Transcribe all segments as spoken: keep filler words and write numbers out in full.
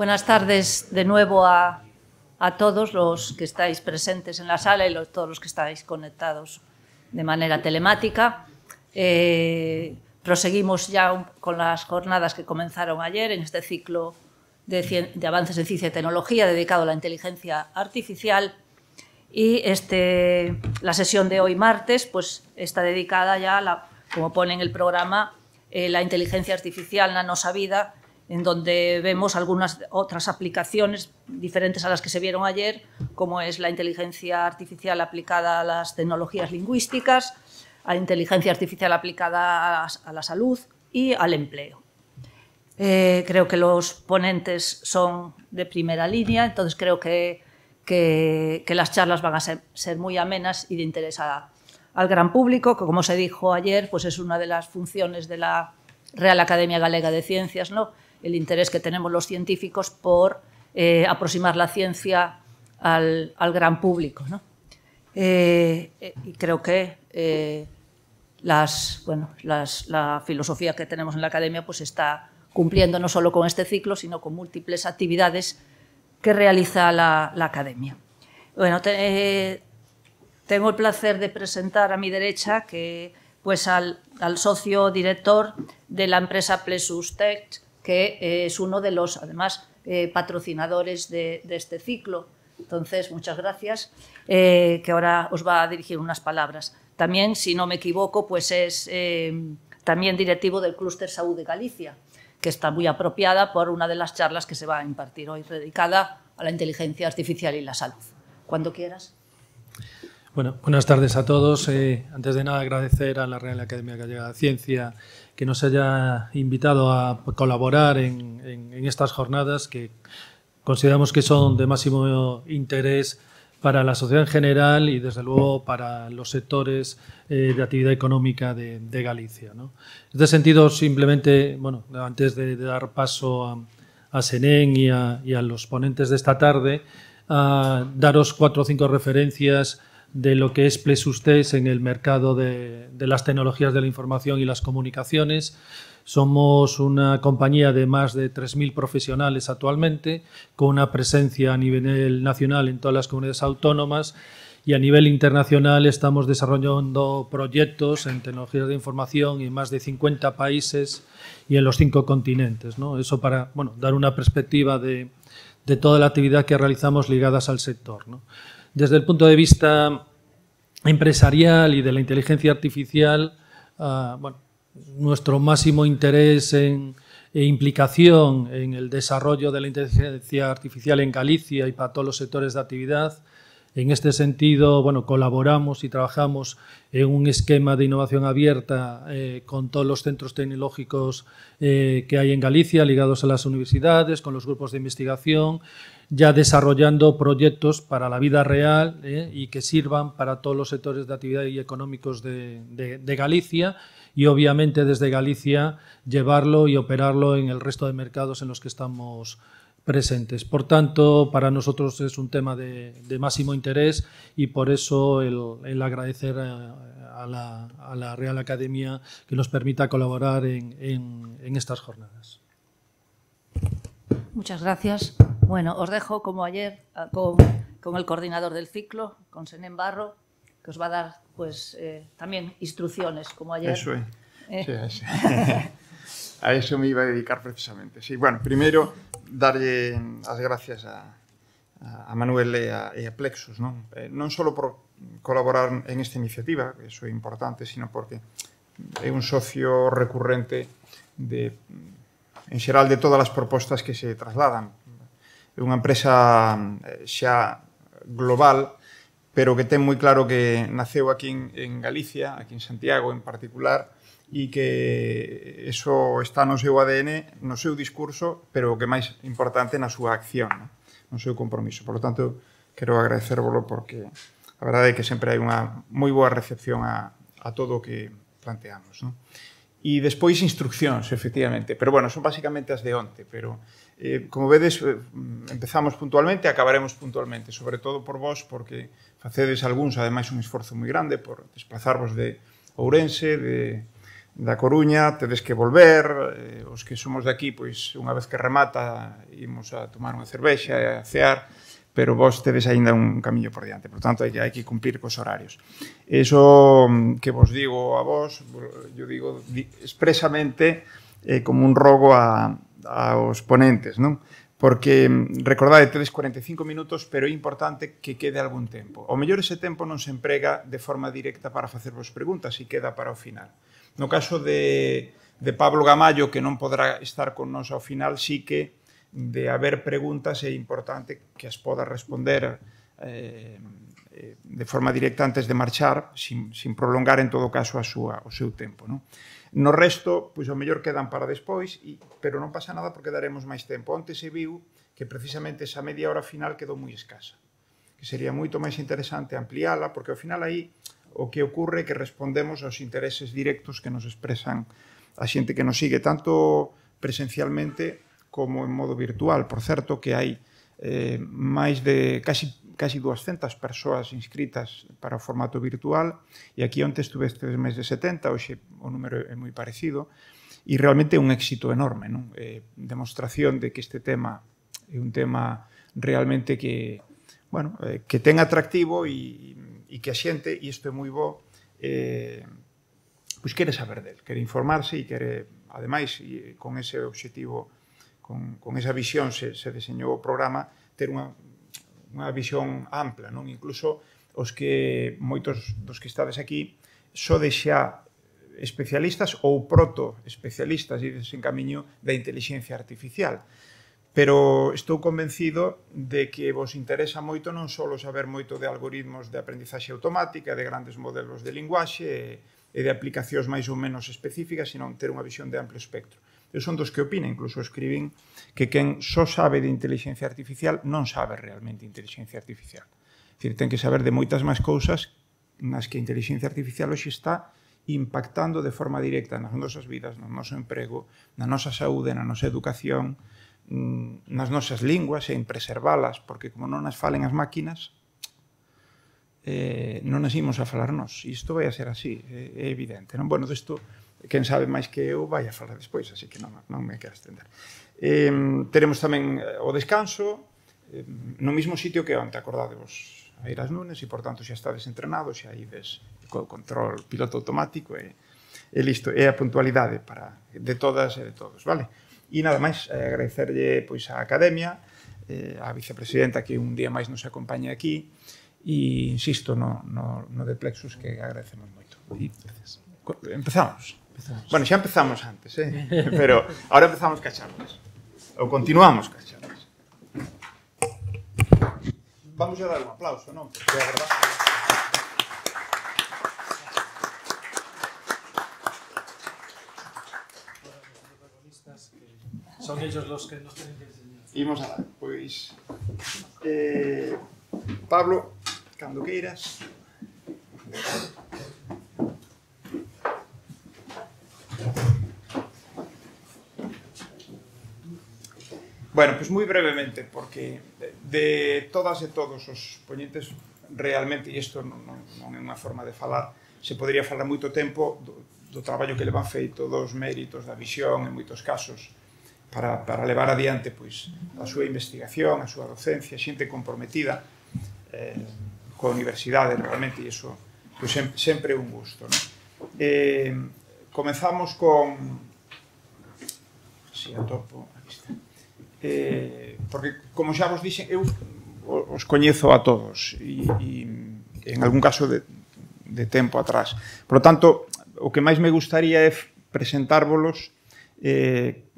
Buenas tardes de nuevo a, a todos los que estáis presentes en la sala y los, todos los que estáis conectados de manera telemática. Eh, proseguimos ya un, con las jornadas que comenzaron ayer en este ciclo de, de avances en ciencia y tecnología dedicado a la inteligencia artificial. Y este, la sesión de hoy martes pues, está dedicada ya, a la, como pone en el programa, eh, la inteligencia artificial nanosabida, en donde vemos algunas otras aplicaciones diferentes a las que se vieron ayer, como es la inteligencia artificial aplicada a las tecnologías lingüísticas, a la inteligencia artificial aplicada a, a la salud y al empleo. Eh, creo que los ponentes son de primera línea, entonces creo que Que, que las charlas van a ser, ser muy amenas y de interés a, al gran público, que como se dijo ayer, pues es una de las funciones de la Real Academia Galega de Ciencias, ¿no? El interés que tenemos los científicos por eh, aproximar la ciencia al, al gran público, ¿no? Eh, eh, y creo que eh, las, bueno, las, la filosofía que tenemos en la Academia pues está cumpliendo no solo con este ciclo, sino con múltiples actividades que realiza la, la Academia. Bueno, te, eh, tengo el placer de presentar a mi derecha que, pues, al, al socio director de la empresa Plexus Tech, que eh, es uno de los, además, eh, patrocinadores de, de este ciclo. Entonces, muchas gracias, eh, que ahora os va a dirigir unas palabras. También, si no me equivoco, pues es eh, también directivo del Clúster Salud de Galicia, que está muy apropiada por una de las charlas que se va a impartir hoy, dedicada a la inteligencia artificial y la salud. Cuando quieras. Bueno, buenas tardes a todos. Eh, antes de nada, agradecer a la Real Academia Gallega de Ciencia que nos haya invitado a colaborar en, en, en estas jornadas que consideramos que son de máximo interés para la sociedad en general y, desde luego, para los sectores eh, de actividad económica de, de Galicia, ¿no? En este sentido, simplemente, bueno, antes de, de dar paso a, a Senén y a, y a los ponentes de esta tarde, a daros cuatro o cinco referencias de lo que es Plexus Tech en el mercado de, de las tecnologías de la información y las comunicaciones. Somos una compañía de más de tres mil profesionales actualmente, con una presencia a nivel nacional en todas las comunidades autónomas, y a nivel internacional estamos desarrollando proyectos en tecnologías de información en más de cincuenta países y en los cinco continentes, ¿no? Eso para, bueno, dar una perspectiva de, de toda la actividad que realizamos ligadas al sector, ¿no? Desde el punto de vista empresarial y de la inteligencia artificial, uh, bueno, nuestro máximo interés en, e implicación en el desarrollo de la inteligencia artificial en Galicia y para todos los sectores de actividad. En este sentido, bueno, colaboramos y trabajamos en un esquema de innovación abierta eh, con todos los centros tecnológicos eh, que hay en Galicia, ligados a las universidades, con los grupos de investigación, ya desarrollando proyectos para la vida real eh, y que sirvan para todos los sectores de actividad y económicos de, de, de Galicia, y obviamente desde Galicia llevarlo y operarlo en el resto de mercados en los que estamos presentes. Por tanto, para nosotros es un tema de, de máximo interés, y por eso el, el agradecer a, a, la, a la Real Academia que nos permita colaborar en, en, en estas jornadas. Muchas gracias. Bueno, os dejo, como ayer, con, con el coordinador del ciclo, con Senén Barro, que os va a dar pues eh, también instrucciones, como ayer. Eso é. Eh. Sí, sí. A eso me iba a dedicar precisamente. Sí, bueno, primeiro, darlle as gracias a, a Manuel e a, e a Plexus, non? Eh, non só por colaborar en esta iniciativa, que eso é importante, sino porque é un socio recurrente de, en xeral, de todas as propostas que se trasladan. É unha empresa xa global, pero que ten moi claro que naceu aquí en, en Galicia, aquí en Santiago en particular, e que eso está no seu A D N, no seu discurso, pero o que máis importante na súa acción, no, no seu compromiso. Por lo tanto, quero agradecervolo porque a verdade é que sempre hai unha moi boa recepción a, a todo o que planteamos, no? E despois instruccións, efectivamente, pero bueno, son basicamente as de onte, pero eh, como vedes, eh, empezamos puntualmente e acabaremos puntualmente, sobre todo por vos, porque facedes algúns, ademais, un esforzo moi grande por desplazarvos de Ourense, de, da Coruña, tedes que volver, eh, os que somos de aquí, pois unha vez que remata, imos a tomar unha cervexa e a cear, pero vos tedes aínda un camiño por diante, por tanto, hai que, hai que cumplir cos horarios. Eso que vos digo a vos, yo digo expresamente eh, como un rogo a, aos ponentes, non? Porque, recordade, tedes cuarenta e cinco minutos, pero é importante que quede algún tempo. O mellor ese tempo non se emprega de forma directa para facervos preguntas e queda para o final. No caso de, de Pablo Gamallo, que non podrá estar con nos ao final, sí que de haber preguntas é importante que as poda responder eh, de forma directa antes de marchar, sin, sin prolongar en todo caso a súa, o seu tempo, non? No resto, pois, ao mellor quedan para despois, e, pero non pasa nada porque daremos máis tempo. Onte se viu que precisamente esa media hora final quedou moi escasa, que sería moito máis interesante ampliála, porque ao final aí o que ocurre é que respondemos aos intereses directos que nos expresan a xente que nos sigue, tanto presencialmente como en modo virtual. Por certo, que hai eh, máis de casi casi doscientas persoas inscritas para o formato virtual, e aquí onte estuve estes mes de setenta, hoxe o número é moi parecido, e realmente é un éxito enorme, non? Eh, demostración de que este tema é un tema realmente que, bueno, eh, que ten atractivo e, e que a xente, e isto é moi bo, eh, pois quere saber del, quere informarse e quere, ademais, e con ese objetivo, con, con esa visión se, se diseñou o programa, ter unha unha visión ampla, non? Incluso os que, moitos dos que estades aquí, sodes xa especialistas ou proto-especialistas, ides en camiño da inteligencia artificial. Pero estou convencido de que vos interesa moito non só saber moito de algoritmos de aprendizaxe automática, de grandes modelos de linguaxe e de aplicacións máis ou menos específicas, sino ter unha visión de amplo espectro. Eu son dos que opina, incluso escribín, que quen só sabe de inteligencia artificial non sabe realmente inteligencia artificial. É dicir, ten que saber de moitas máis cousas nas que a inteligencia artificial hoxe está impactando de forma directa nas nosas vidas, no noso emprego, na nosa saúde, na nosa educación, nas nosas linguas e en preservalas, porque como non as falen as máquinas, eh, non as imos a falar nós. E isto vai a ser así, é, é evidente. Non? Bueno, desto, quen sabe máis que eu vai a falar despois, así que non, non me quero estender. Eh, teremos tamén o descanso, eh, no mismo sitio que onte, acordadevos, a ir ás Nunes, e, por tanto, xa estades entrenados, xa ides co control piloto automático, e, e listo. É a puntualidade para, de todas e de todos, vale? E nada máis, eh, agradecerlle pois, a Academia, eh, a vicepresidenta que un día máis nos acompaña aquí, e insisto no, no, no de Plexus, que agradecemos moito. E, empezamos. empezamos. Bueno, xa empezamos antes, eh? Pero ahora empezamos ca charlas. Ou continuamos ca charlas. Vamos a dar un aplauso, non? Porque a verdade... Son ellos los que nos tienen que enseñar. Imos a dar, pois... Eh, Pablo, cando queiras. Bueno, pois moi brevemente, porque de, de todas e todos os poñentes realmente, e isto non, non, non é unha forma de falar, se podría falar moito tempo do, do traballo que le van feito, dos méritos da visión, en moitos casos, para, para levar adiante pois, a súa investigación, a súa docencia, xente comprometida eh, coa universidade realmente, e iso pois, sempre, sempre é un gusto, non? Eh, comenzamos con... Si atopo, aquí está. Eh, porque, como xa vos dixen, eu os coñezo a todos, e, e en algún caso de, de tempo atrás. Por lo tanto, o que máis me gustaría é presentárvolos eh,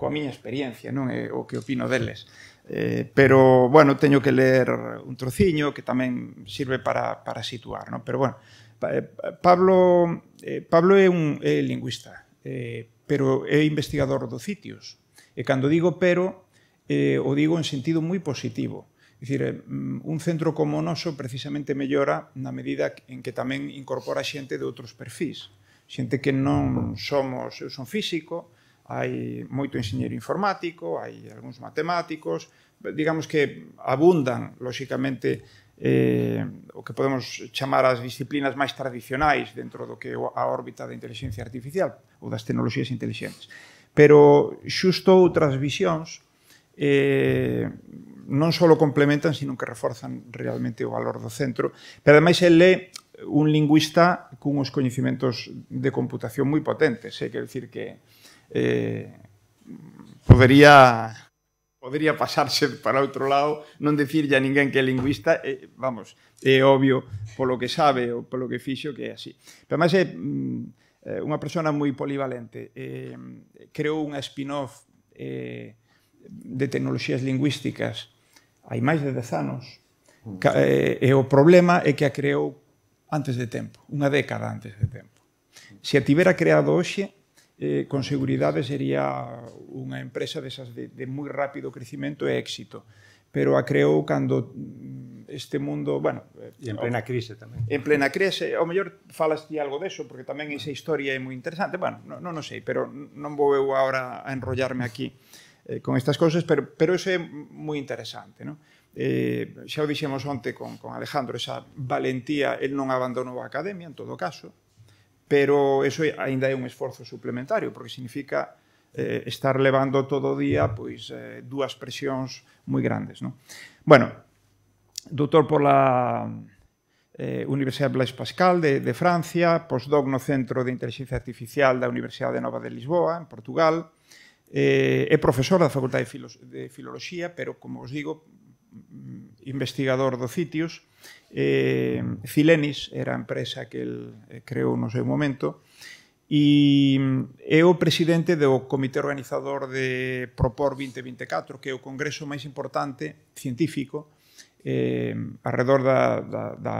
coa miña experiencia, non é o que opino deles. Eh, pero, bueno, teño que ler un trociño que tamén sirve para, para situar, non? Pero, bueno, Pablo, eh, Pablo é un é lingüista, eh, pero é investigador do CITIUS. E cando digo pero, eh, o digo en sentido moi positivo. É dicir, un centro como o noso precisamente mellora na medida en que tamén incorpora xente de outros perfis. Xente que non somos... Eu son físico, hai moito enxeñeiro informático, hai algúns matemáticos, digamos que abundan, lóxicamente, eh, o que podemos chamar as disciplinas máis tradicionais dentro do que é a órbita da inteligencia artificial ou das tecnoloxías inteligentes. Pero xusto outras visións eh, non só complementan, sino que reforzan realmente o valor do centro. Pero ademais el é un lingüista cunhos coñecimentos de computación moi potentes. É quer dicir que eh, podería... podería pasarse para outro lado, non dicirlle a ninguén que é lingüista, eh, vamos, é obvio polo que sabe ou polo que fixo que é así. Pero además é mm, unha persona moi polivalente. Eh, creou unha spin-off eh, de tecnoloxías lingüísticas hai máis de dez anos, eh, e o problema é que a creou antes de tempo, unha década antes de tempo. Se a tivera creado hoxe, Eh, con seguridade sería unha empresa desas de, de moi rápido crecimento e éxito, pero a creou cando este mundo, bueno... E en plena crise tamén. En plena crise, ao mellor falas ti algo deso, porque tamén esa historia é moi interesante, bueno, non, non sei, pero non vou eu agora a enrollarme aquí eh, con estas cousas, pero, pero eso é moi interesante, non? Eh, xa o dixemos onte con, con Alejandro, esa valentía, el non abandonou a academia, en todo caso, pero eso ainda é un esforzo suplementario, porque significa eh, estar levando todo o día pois, eh, dúas presións moi grandes. Non? Bueno, doutor pola eh, Universidade Blaise Pascal de, de Francia, postdoc no Centro de Inteligencia Artificial da Universidade Nova de Lisboa, en Portugal, eh, é profesor da Facultade de, Filo de Filoloxía, pero, como os digo, investigador do CITIUS. Eh, Cilenis era a empresa que el creou no seu momento e é o presidente do comité organizador de Propor vinte vinte e catro, que é o congreso máis importante científico eh, alrededor da, da, da,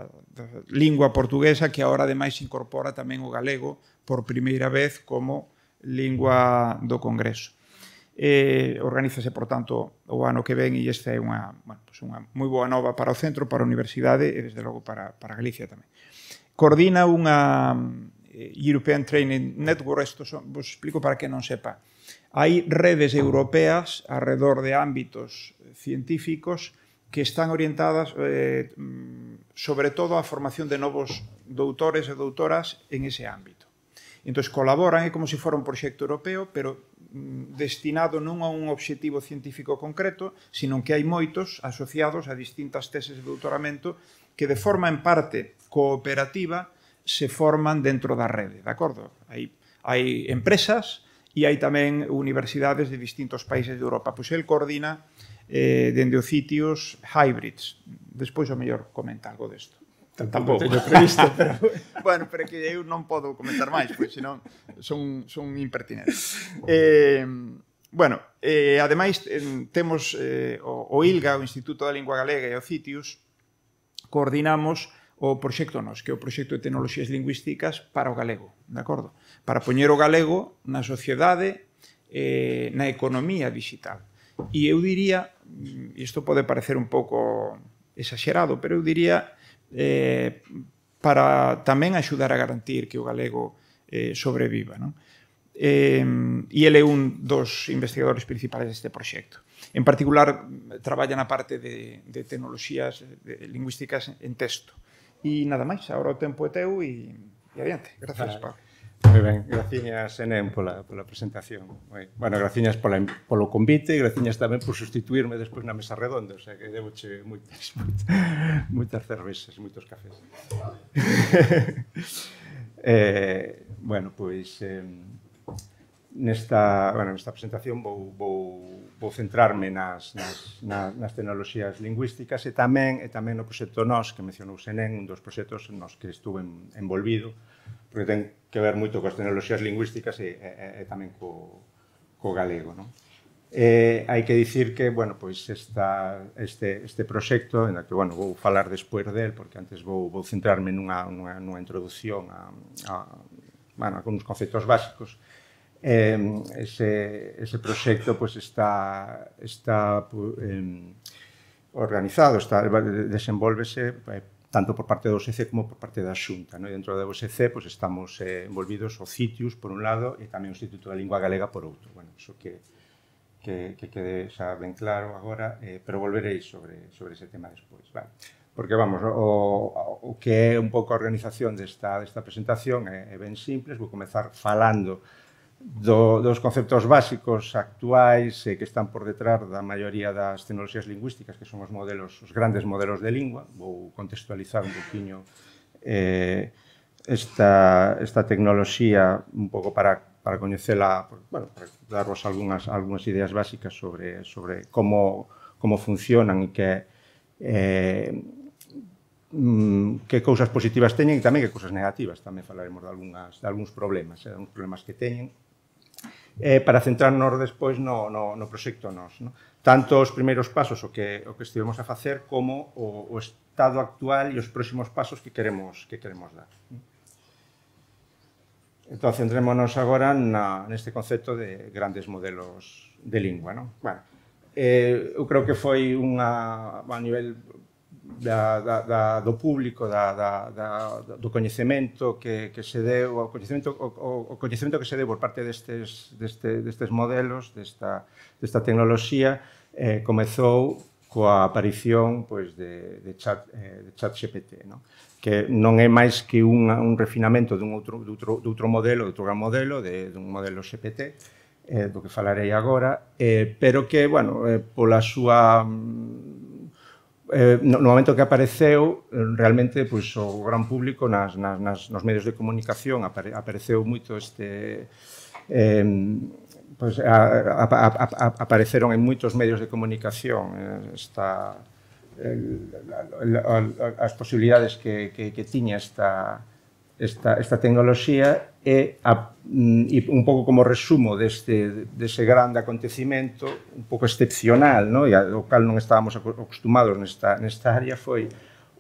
da lingua portuguesa, que agora ademais incorpora tamén o galego por primeira vez como lingua do congreso. Eh, organízase, por tanto, o ano que ven, e esta é unha, bueno, pues unha moi boa nova para o centro, para a universidade e, desde logo, para, para Galicia tamén. Coordina unha European Training Network, isto son, vos explico para que non sepa. Hai redes europeas alrededor de ámbitos científicos que están orientadas eh, sobre todo á formación de novos doutores e doutoras en ese ámbito. Entón, colaboran, é como se fora un proxecto europeo, pero destinado non a un obxectivo científico concreto, sino que hai moitos asociados a distintas teses de doutoramento que de forma en parte cooperativa se forman dentro da rede, de acordo? Hai, hai empresas e hai tamén universidades de distintos países de Europa. Pois el coordina eh, dende o CITIUS Hybrids. Despois, ao mellor, comenta algo desto. Tampouco teño previsto, pero... bueno, pero que eu non podo comentar máis, pois senón son, son impertinentes. Eh, bueno, eh, ademais, eh, temos eh, o, o ILGA, o Instituto da Lingua Galega, e o CITIUS, coordinamos o proxecto NOS, que é o proxecto de tecnoloxías lingüísticas para o galego, de acordo? Para poñer o galego na sociedade, eh, na economía digital. E eu diría, e isto pode parecer un pouco exagerado, pero eu diría eh, para tamén axudar a garantir que o galego eh, sobreviva. Non? Eh, e ele é un dos investigadores principales deste proxecto. En particular, traballa na parte de, de tecnoloxías de lingüísticas en texto. E nada máis, agora o tempo é teu e, e adiante. Gracias, Pablo. Moi ben, graciñas, Enén, pola, pola presentación. Bueno, graciñas pola, polo convite e graciñas tamén por sustituirme despois na mesa redonda, o sea que devoche moitas, moitas, moitas cervezas, moitos cafés. eh, bueno, pois eh, nesta, bueno, nesta presentación vou, vou, vou centrarme nas, nas, nas, nas tecnoloxías lingüísticas e tamén, e tamén no proxecto NOS, que mencionou Enén, un dos proxectos nos que estuve envolvido, porque ten que ver moito coas tecnoloxías lingüísticas e, e, e tamén co, co galego. Non? Eh, hai que dicir que, bueno, pois esta, este, este proxecto, en que, bueno, vou falar despois del, porque antes vou, vou centrarme nunha, nunha, nunha introducción a, a, bueno, a uns conceptos básicos. Eh, ese, ese proxecto pois, está, está eh, organizado, está, desenvolvese eh, tanto por parte do O S C como por parte da Xunta. No? E dentro do O S C pues, estamos eh, envolvidos o CITIUS, por un lado, e tamén o Instituto da Lingua Galega, por outro. Bueno, iso que, que, que quede xa ben claro agora, eh, pero volverei sobre, sobre ese tema despois. Vale. porque, vamos, o, o que é un pouco a organización desta, desta presentación é, é ben simples. Vou comezar falando do, dos conceptos básicos actuais eh, que están por detrás da maioría das tecnoloxías lingüísticas, que son os modelos, os grandes modelos de lingua. Vou contextualizar un poquinho eh, esta, esta tecnoloxía un pouco para, para coñecela, bueno, para darvos algunhas, algunhas ideas básicas sobre, sobre como, como funcionan e que eh, que cousas positivas teñen e tamén que cousas negativas. Tamén falaremos de, algunhas, de algúns problemas, eh, algúns problemas que teñen, eh, para centrarnos despois no, no, no proxecto nos. No? Tanto os primeiros pasos, o que, o que estivemos a facer, como o, o estado actual e os próximos pasos que queremos, que queremos dar. Entón, centrémonos agora na, neste concepto de grandes modelos de lingua. No? Bueno, eh, eu creo que foi unha, a nivel Da, da, da, do público, da, da, da, do coñecemento que, que se deu, o coñecemento, o, o coñecemento que se deu por parte destes, deste, destes modelos, desta, desta tecnoloxía, eh, comezou coa aparición pois, de, de, chat, eh, de ChatGPT, no? Que non é máis que un, un refinamento dun outro, de outro, de outro modelo, de outro gran modelo, de, de un modelo G P T, eh, do que falarei agora, eh, pero que, bueno, eh, pola súa... Eh, no, no momento que apareceu, realmente pois, o gran público nas, nas, nas, nos medios de comunicación apare, apareceu moito este... Eh, pois, a, a, a, a, apareceron en moitos medios de comunicación eh, esta, el, la, la, as posibilidades que, que, que tiña esta, esta, esta tecnoloxía e, a, e un pouco como resumo deste, dese grande acontecimento, un pouco excepcional, no? E ao cal non estábamos acostumados nesta, nesta área, foi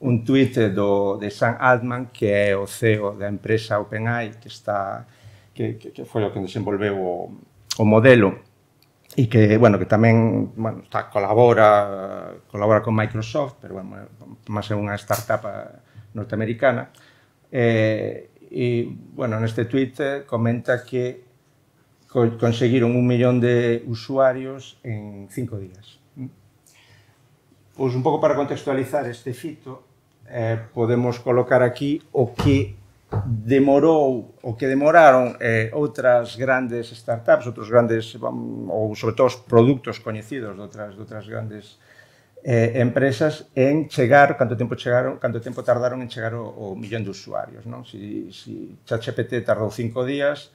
un tuit do, de Sam Altman, que é o C E O da empresa OpenAI, que, está, que, que, que foi o que desenvolveu o, o modelo, e que, bueno, que tamén bueno, está, colabora, colabora con Microsoft, pero, bueno, máis é unha startup norteamericana. Eh, e, bueno, neste tuit comenta que conseguiron un millón de usuarios en cinco días. Pois un pouco para contextualizar este fito, eh, podemos colocar aquí o que demorou, o que demoraron eh, outras grandes startups, outros grandes, ou sobre todo os produtos coñecidos de outras, de outras grandes Eh, empresas en chegar, canto tempo chegaron, canto tempo tardaron en chegar o, o millón de usuarios, non? Si, si ChatGPT tardou cinco días,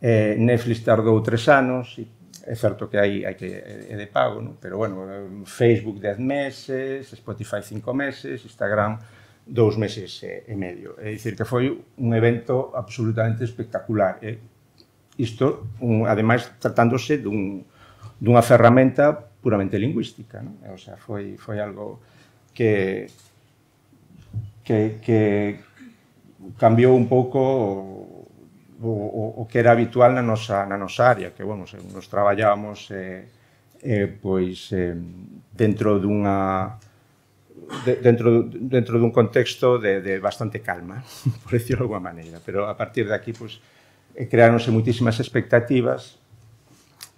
eh, Netflix tardou tres anos, e é certo que hai, hai que é de pago, non? Pero, bueno, Facebook dez meses, Spotify cinco meses, Instagram dous meses e, e medio. É dicir, que foi un evento absolutamente espectacular. Eh? Isto, un, ademais, tratándose dun, dunha ferramenta puramente lingüística, ¿no? O sea, foi, foi algo que, que, que cambiou un pouco o, o, o que era habitual na nosa, na nosa área, que, bueno, nos traballábamos eh, eh, pois, eh, dentro dunha de, dentro, dentro dun contexto de, de bastante calma, por decirlo de alguma maneira, pero a partir de aquí, pois, creáronse muitísimas expectativas.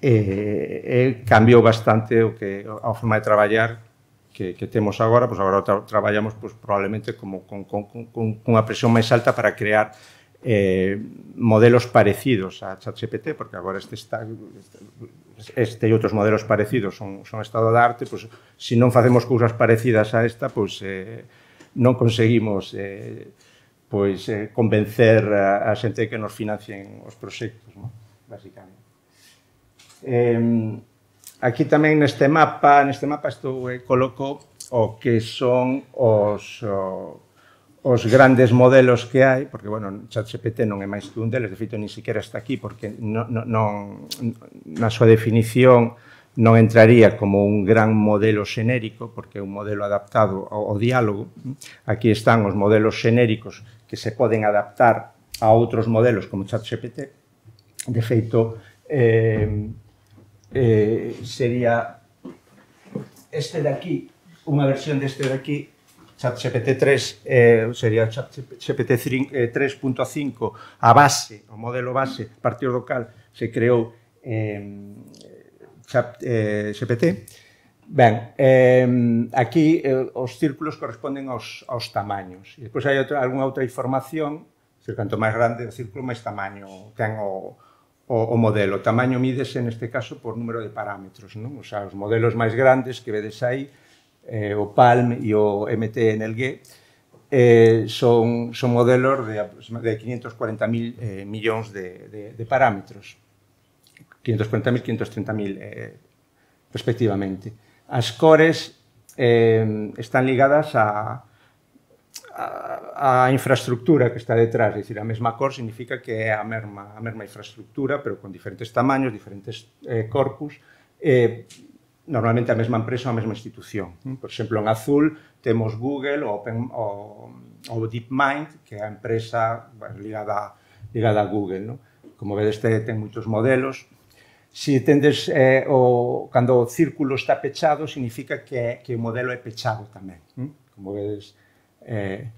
Eh, eh, cambiou bastante o que a forma de traballar que, que temos agora, pois agora tra traballamos pois, probablemente como con, con, con, con unha presión máis alta para crear eh, modelos parecidos a ChatGPT, porque agora este, está, este e outros modelos parecidos son, son estado de arte, pois, se non facemos cousas parecidas a esta, pois eh, non conseguimos eh, pois, eh, convencer a, a xente que nos financien os proxectos, ¿no? Básicamente. Eh, aquí tamén neste mapa, neste mapa estou eh, coloco o que son os, o, os grandes modelos que hai, porque, bueno, ChatGPT non é máis que un deles, de feito, ni siquiera está aquí, porque non, non, na súa definición non entraría como un gran modelo xenérico, porque é un modelo adaptado ao, ao diálogo. Aquí están os modelos xenéricos que se poden adaptar a outros modelos como ChatGPT. De feito, eh, Eh, sería este de aquí, unha versión deste de aquí, ChatGPT tres, eh, sería ChatGPT tres punto cinco, a base, o modelo base, a partir do cal se creou eh, Chat, eh, G P T. Ben, eh, aquí eh, os círculos corresponden aos, aos tamaños. E depois hai outra, algunha outra información, decir, canto máis grande o círculo, máis tamaño ten o, o, o modelo. O tamaño mídese, neste caso, por número de parámetros, non? O sea, os modelos máis grandes que vedes aí, eh, o PALM e o M T N L G, eh, son, son modelos de, de quinientos cuarenta mil eh, millóns de, de, de parámetros. quinientos cuarenta mil, quinientos treinta mil, eh, respectivamente. As cores eh, están ligadas a, a, a infraestructura que está detrás, é dicir, a mesma cor significa que é a mesma, a mesma infraestructura, pero con diferentes tamaños, diferentes eh, corpus, eh, normalmente a mesma empresa ou a mesma institución. Por exemplo, en azul temos Google ou Open, o, o DeepMind, que é a empresa ligada, ligada a Google. ¿No? Como vedes, ten moitos modelos. Si tendes, eh, o, cando o círculo está pechado, significa que, que o modelo é pechado tamén. Como vedes, eh,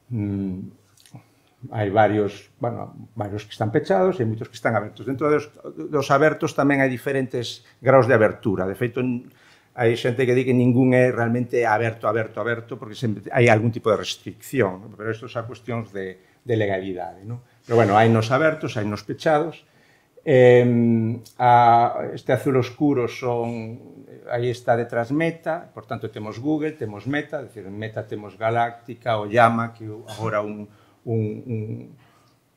mm, hai varios, bueno, varios que están pechados e moitos que están abertos. Dentro dos, dos abertos tamén hai diferentes graus de abertura. De feito, hai xente que di que ningún é realmente aberto, aberto, aberto, porque sempre hai algún tipo de restricción, pero isto son cuestións de, de legalidade. ¿No? Pero, bueno, hai nos abertos, hai nos pechados. Eh, a, este azul oscuro son, aí está detrás Meta, por tanto temos Google, temos Meta, é dicir, en Meta temos Galáctica, o Llama, que agora un Un, un,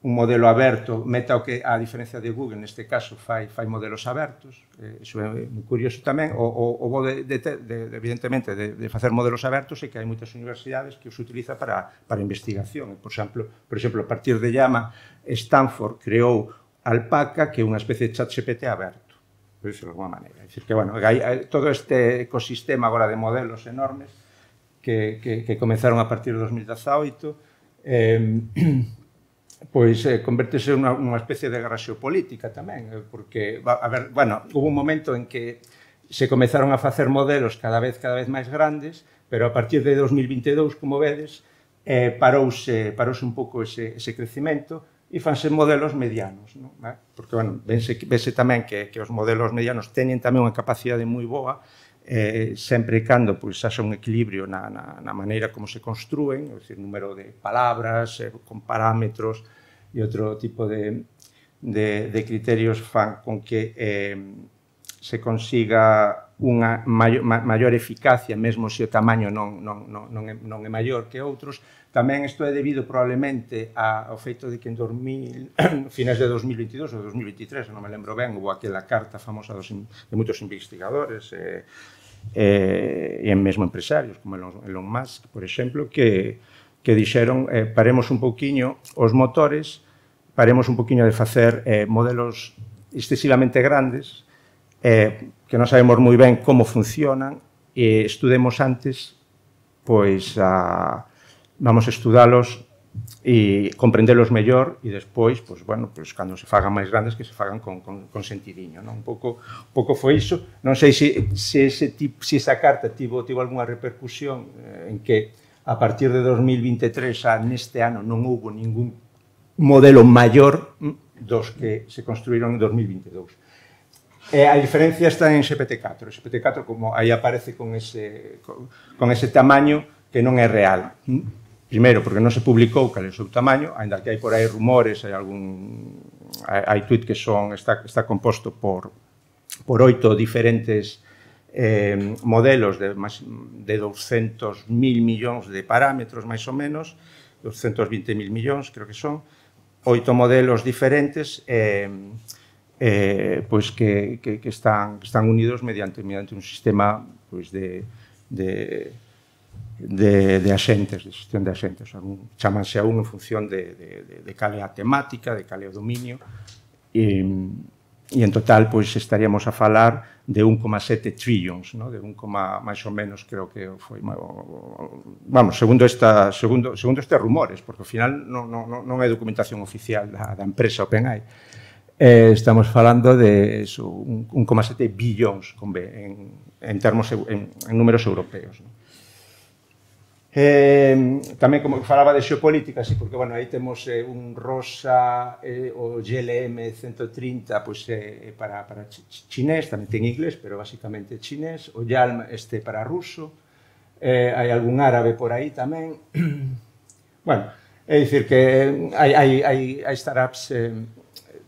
un modelo aberto, Meta o que, a diferencia de Google, neste caso, fai, fai modelos abertos, eh, iso é moi curioso tamén, o, o, o bo de, de, de, evidentemente, de, de facer modelos abertos é que hai moitas universidades que os utiliza para, para investigación. Por exemplo, por exemplo, a partir de Llama, Stanford creou Alpaca, que é unha especie de chat G P T aberto, por iso de alguma maneira. É dicir, que, bueno, hai, hai todo este ecosistema agora de modelos enormes que, que, que comenzaron a partir de dos mil dezaoito, Eh, pois eh, convertese en unha, unha especie de guerra xeopolítica tamén, eh, porque, a ver, bueno, hubo un momento en que se comezaron a facer modelos cada vez cada vez máis grandes, pero a partir de dos mil vinte e dous, como vedes, eh, parouse, parouse un pouco ese, ese crecimento e fanse modelos medianos, ¿no? Eh? Porque, bueno, vense, vese tamén que, que os modelos medianos teñen tamén unha capacidade moi boa, Eh, sempre e cando pois, haxa un equilibrio na, na, na maneira como se construen, é dicir, número de palabras, eh, con parámetros e outro tipo de, de, de criterios fan con que eh, se consiga unha maior, ma, maior eficacia, mesmo se o tamaño non, non, non, non, é, non é maior que outros. Tamén isto é debido probablemente ao feito de que en dos mil, finais de dos mil vinte e dous ou dos mil vinte e tres, non me lembro ben, hubo aquela carta famosa dos, de moitos investigadores, eh, eh, e mesmo empresarios, como Elon Musk, por exemplo, que, que dixeron eh, paremos un pouquiño os motores, paremos un pouquiño de facer eh, modelos excesivamente grandes, eh, que non sabemos moi ben como funcionan, e estudemos antes, pois, a, vamos a estudalos e comprendelos mellor e despois, pois, bueno, pois, cando se fagan máis grandes, que se fagan con, con, con sentidiño, non? Un pouco, un pouco foi iso. Non sei se, se, ese tip, se esa carta tivo, tivo algunha repercusión eh, en que a partir de dos mil vinte e tres a neste ano non houve ningún modelo maior dos que se construíron en dos mil vinte e dous. E a diferencia está en G P T catro. G P T catro, como aí aparece con ese, con, con ese tamaño que non é real. Primeiro, porque non se publicou cal é o seu tamaño, ainda que hai por aí rumores, hai algún hai, hai tuit que son está está composto por por oito diferentes eh, modelos de máis de douscentos mil millóns de parámetros máis ou menos, doscientos veinte mil millóns, creo que son, oito modelos diferentes eh, eh, pois que, que, que están que están unidos mediante mediante un sistema pois de de De, de axentes, de xestión de axentes. Chámanse a un en función de, de, de, de cal é a temática, de cal é o dominio, e, e en total pois, estaríamos a falar de un coma sete trillions, ¿no? De un, máis ou menos, creo que foi, vamos, segundo, esta, segundo, segundo estes rumores, porque ao final non, non, non é documentación oficial da, da empresa OpenAI. Eh, estamos falando de eso, un, un coma sete billions con B, en, en termos en, en números europeos, ¿no? Eh, tamén, como falaba de xeopolítica, sí, porque, bueno, aí temos eh, un rosa, eh, o G L M ciento trinta, pois, eh, para, para chinés, tamén ten inglés, pero basicamente chinés, o Yalm este para ruso, eh, hai algún árabe por aí tamén. Bueno, é dicir que hai, hai, hai, hai startups eh,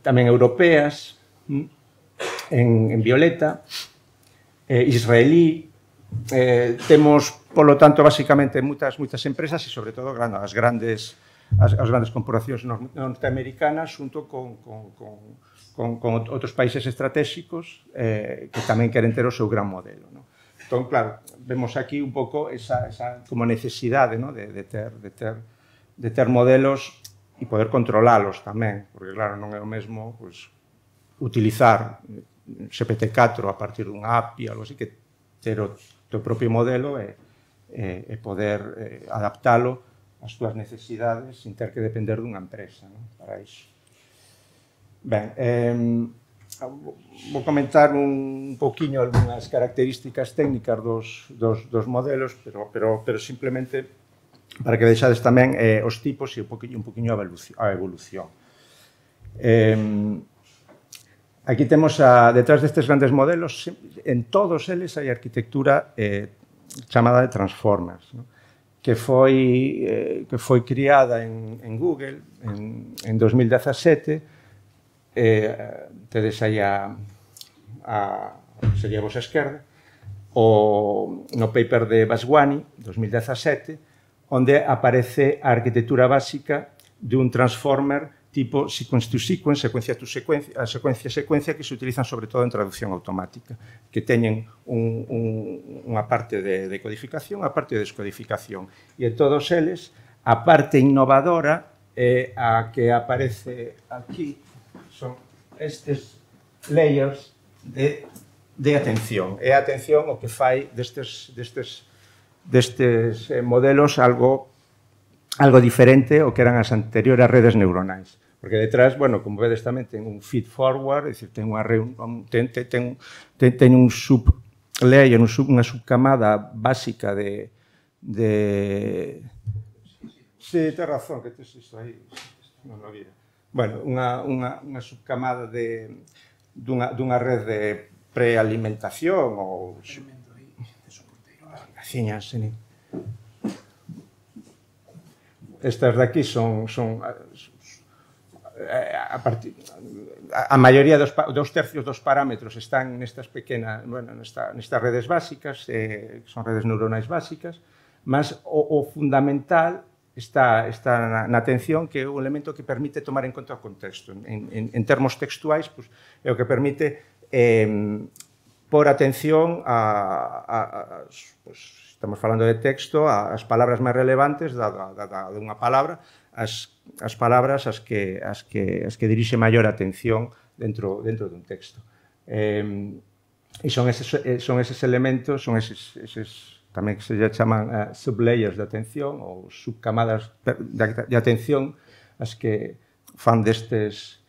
tamén europeas, en, en violeta, eh, israelí, eh, temos, polo tanto, basicamente, moitas, moitas empresas e, sobre todo, claro, as grandes, as, as grandes corporacións norteamericanas junto con, con, con, con, con outros países estratégicos eh, que tamén queren ter o seu gran modelo, ¿no? Entón, claro, vemos aquí un pouco esa, esa como necesidade, ¿no? de, de, ter, de, ter, de ter modelos e poder controlalos tamén, porque, claro, non é o mesmo pues, utilizar G P T catro a partir dunha A P I, algo así, que ter o teu propio modelo e, e, e poder eh, adaptalo ás túas necesidades sin ter que depender dunha empresa, ¿no? Para iso. Ben, eh, vou comentar un poquinho algunhas características técnicas dos, dos, dos modelos, pero, pero, pero simplemente para que vexades tamén eh, os tipos e un poquinho, un poquinho a evolución. Eh, Aquí temos, a, detrás destes grandes modelos, en todos eles hai arquitectura eh, chamada de Transformers, ¿no? que, foi, eh, que foi criada en, en Google en, en dos mil dezasete. Eh, tedes aí a, a sería vos a esquerda, o, no paper de Vaswani, dos mil dezasete, onde aparece a arquitectura básica de un Transformer tipo sequence to sequence, secuencia to secuencia, a secuencia secuencia que se utilizan sobre todo en traducción automática, que teñen un, un, unha parte de, de codificación, a parte de descodificación. E en todos eles, a parte innovadora é a que aparece aquí, son estes layers de, de atención. É a atención o que fai destes, destes, destes modelos algo algo diferente ao que eran as anteriores redes neuronais. Porque detrás, bueno, como vedes tamén, ten un feed forward, é dicir, ten unha ten, ten, ten, ten un sublayer, un sub, unha subcamada básica de... de... Sí, ten razón, que tes isto aí, non lo vira. Bueno, unha, unha, unha subcamada de, dunha, dunha red de prealimentación ou... Gaciñas, sí. Estas de aquí son, son a, a, partir, a, a maioría dos, dos tercios dos parámetros están nestas pequenas, bueno, nesta, nestas redes básicas, eh, son redes neuronais básicas, mas o, o fundamental está, está na, na atención, que é o elemento que permite tomar en conta o contexto. En, en, en termos textuais, pues, é o que permite eh, por atención a, a, a, a pues, estamos falando de texto, as palabras máis relevantes da, da, da, de unha palabra, as, as palabras as que, as, que, as que dirixe maior atención dentro, dentro dun texto. Eh, e son eses, son eses elementos, son eses, eses tamén que se chaman uh, sublayers de atención ou subcamadas de, de atención as que fan destes,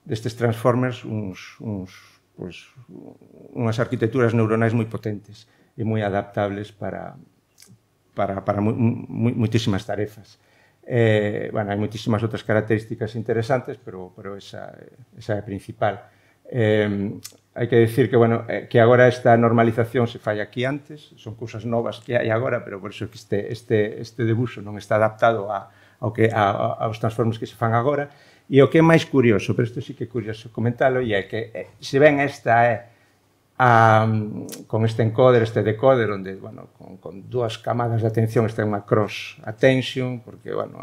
destes transformers uns, uns, pues, unhas arquitecturas neuronais moi potentes e moi adaptables para, para, para mu, mu, muitísimas tarefas. Eh, bueno, hai muitísimas outras características interesantes, pero, pero esa, esa é a principal. Eh, hai que decir que, bueno, eh, que agora esta normalización se fai aquí antes, son cousas novas que hai agora, pero por eso que este, este, este debuxo non está adaptado a, ao que, a, aos transformers que se fan agora. E o que é máis curioso, pero isto sí que é curioso comentalo, e é que, eh, se ven esta é A, con este encoder, este decoder, onde, bueno, con, con dúas camadas de atención está unha cross attention, porque, bueno,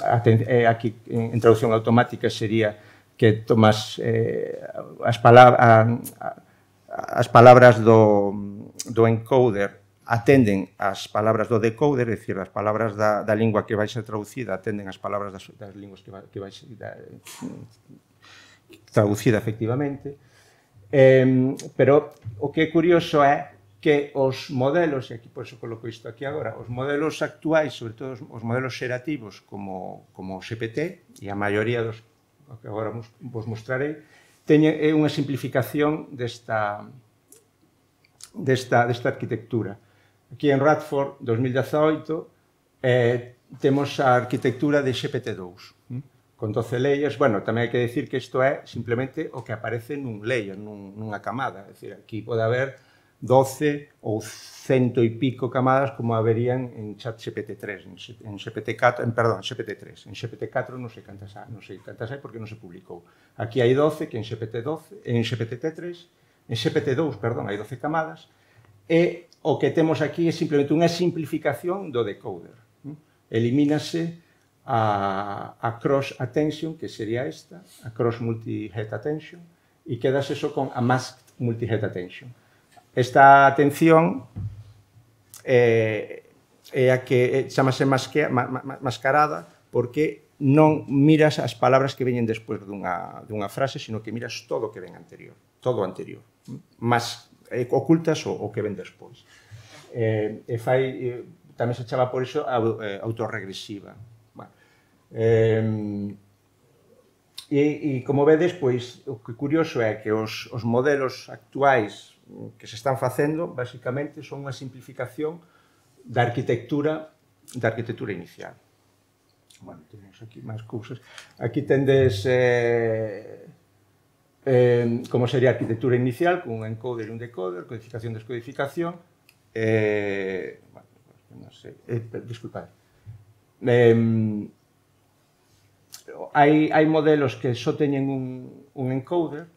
aten, eh, aquí en, en traducción automática sería que tomas eh, as, palabra, a, a, as palabras do, do encoder atenden as palabras do decoder, é dicir, as palabras da, da lingua que vai ser traducida atenden as palabras das, das linguas que vai, que vai ser da, traducida efectivamente. Eh, pero o que é curioso é que os modelos, e aquí por eso coloco isto aquí agora, os modelos actuais, sobre todo os modelos xerativos como, como o G P T, e a maioría dos que agora vos mostrarei, teñen é unha simplificación desta, desta, desta arquitectura. aquí en Radford, dos mil dezaoito, eh, temos a arquitectura de X P T dous, con doce layers. Bueno, tamén hai que decir que isto é simplemente o que aparece nun layer, nun, nunha camada. É dicir, aquí pode haber doce ou cento e pico camadas como haberían en chat G P T tres, en G P T catro, en, perdón, G P T tres. En G P T catro non sei cantas hai, non sei cantas hai porque non se publicou. Aquí hai doce, que en G P T doce, en G P T tres, en G P T dous, perdón, hai doce camadas, e o que temos aquí é simplemente unha simplificación do decoder. Elimínase a, a cross attention, que sería esta, a cross multi-head attention, e quedase só con a masked multi-head attention. Esta atención eh, é a que chamase masque, ma, ma, mascarada porque non miras as palabras que veñen despois dunha, dunha frase, sino que miras todo o que ven anterior, todo o anterior, mas eh, ocultas o, o que ven despois. Eh, e fai, eh, tamén se chama por iso a, eh, autorregresiva. Bueno, eh, e, e como vedes, pois, o que curioso é que os, os modelos actuais que se están facendo, basicamente, son unha simplificación da arquitectura da arquitectura inicial. Bueno, temos aquí máis cousas. Aquí tendes eh, eh, como sería a arquitectura inicial, con un encoder e un decoder, codificación, descodificación. Eh, bueno, non sei, eh, disculpad. Eh, hai, hai modelos que só teñen un, un encoder,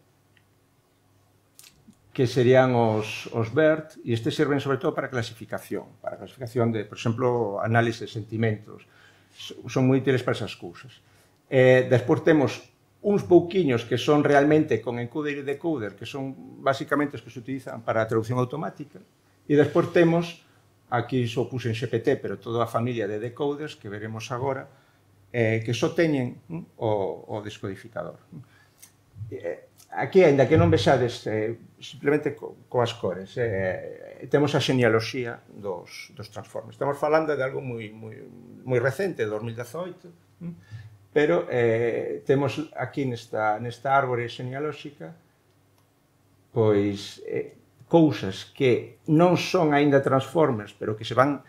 que serían os, os BERT, e estes serven sobre todo para clasificación, para clasificación de, por exemplo, análise de sentimentos. Son moi útiles para esas cousas. Eh, despois temos uns pouquiños que son realmente con encoder e decoder, que son basicamente os que se utilizan para a traducción automática, e despois temos, aquí só puse en G P T, pero toda a familia de decoders que veremos agora, eh, que só teñen mm, o, o descodificador. Eh, aquí, ainda que non vexades eh, simplemente co, coas cores, eh, temos a xenealoxía dos, dos transformes. Estamos falando de algo moi, moi, moi recente, de dos mil dezaoito, pero eh, temos aquí nesta, nesta árbore xenealóxica pois eh, cousas que non son aínda transformers, pero que se van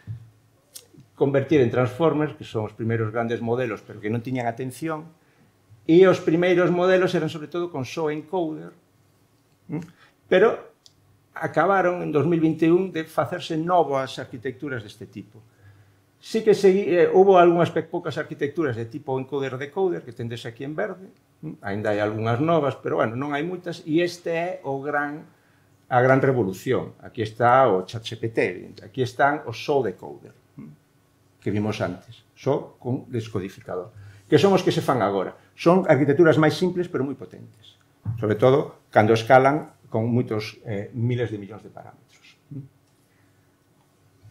convertir en transformers, que son os primeiros grandes modelos, pero que non tiñan atención. E os primeiros modelos eran sobre todo con só encoder, pero acabaron en dos mil vinte e un de facerse novas arquitecturas deste tipo. Sí que segui, eh, houve algunhas poucas arquitecturas de tipo encoder-decoder, que tendes aquí en verde, ainda hai algunhas novas, pero bueno, non hai moitas, e este é o gran, a gran revolución. Aquí está o ChatGPT, aquí están os só decoder, que vimos antes, só con descodificador. Que son os que se fan agora. Son arquitecturas máis simples, pero moi potentes. Sobre todo, cando escalan con moitos eh, miles de millóns de parámetros.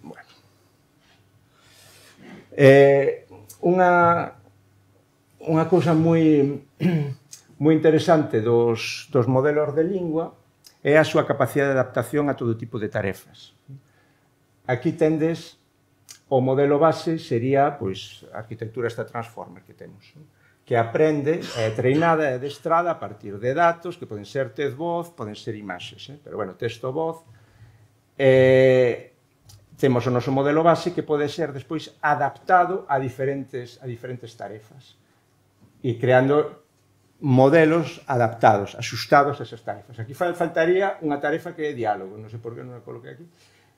Bueno. Eh, unha, unha cousa moi, moi interesante dos, dos modelos de lingua é a súa capacidade de adaptación a todo tipo de tarefas. Aquí tendes o modelo base sería pois, a arquitectura esta transformer que temos, que aprende, é treinada, é adestrada a partir de datos, que poden ser text-voz, poden ser imaxes, eh? Pero, bueno, texto-voz. Eh, temos o noso modelo base que pode ser despois adaptado a diferentes, a diferentes tarefas e creando modelos adaptados, asustados a esas tarefas. Aquí faltaría unha tarefa que é diálogo, non sei por que non a coloquei aquí.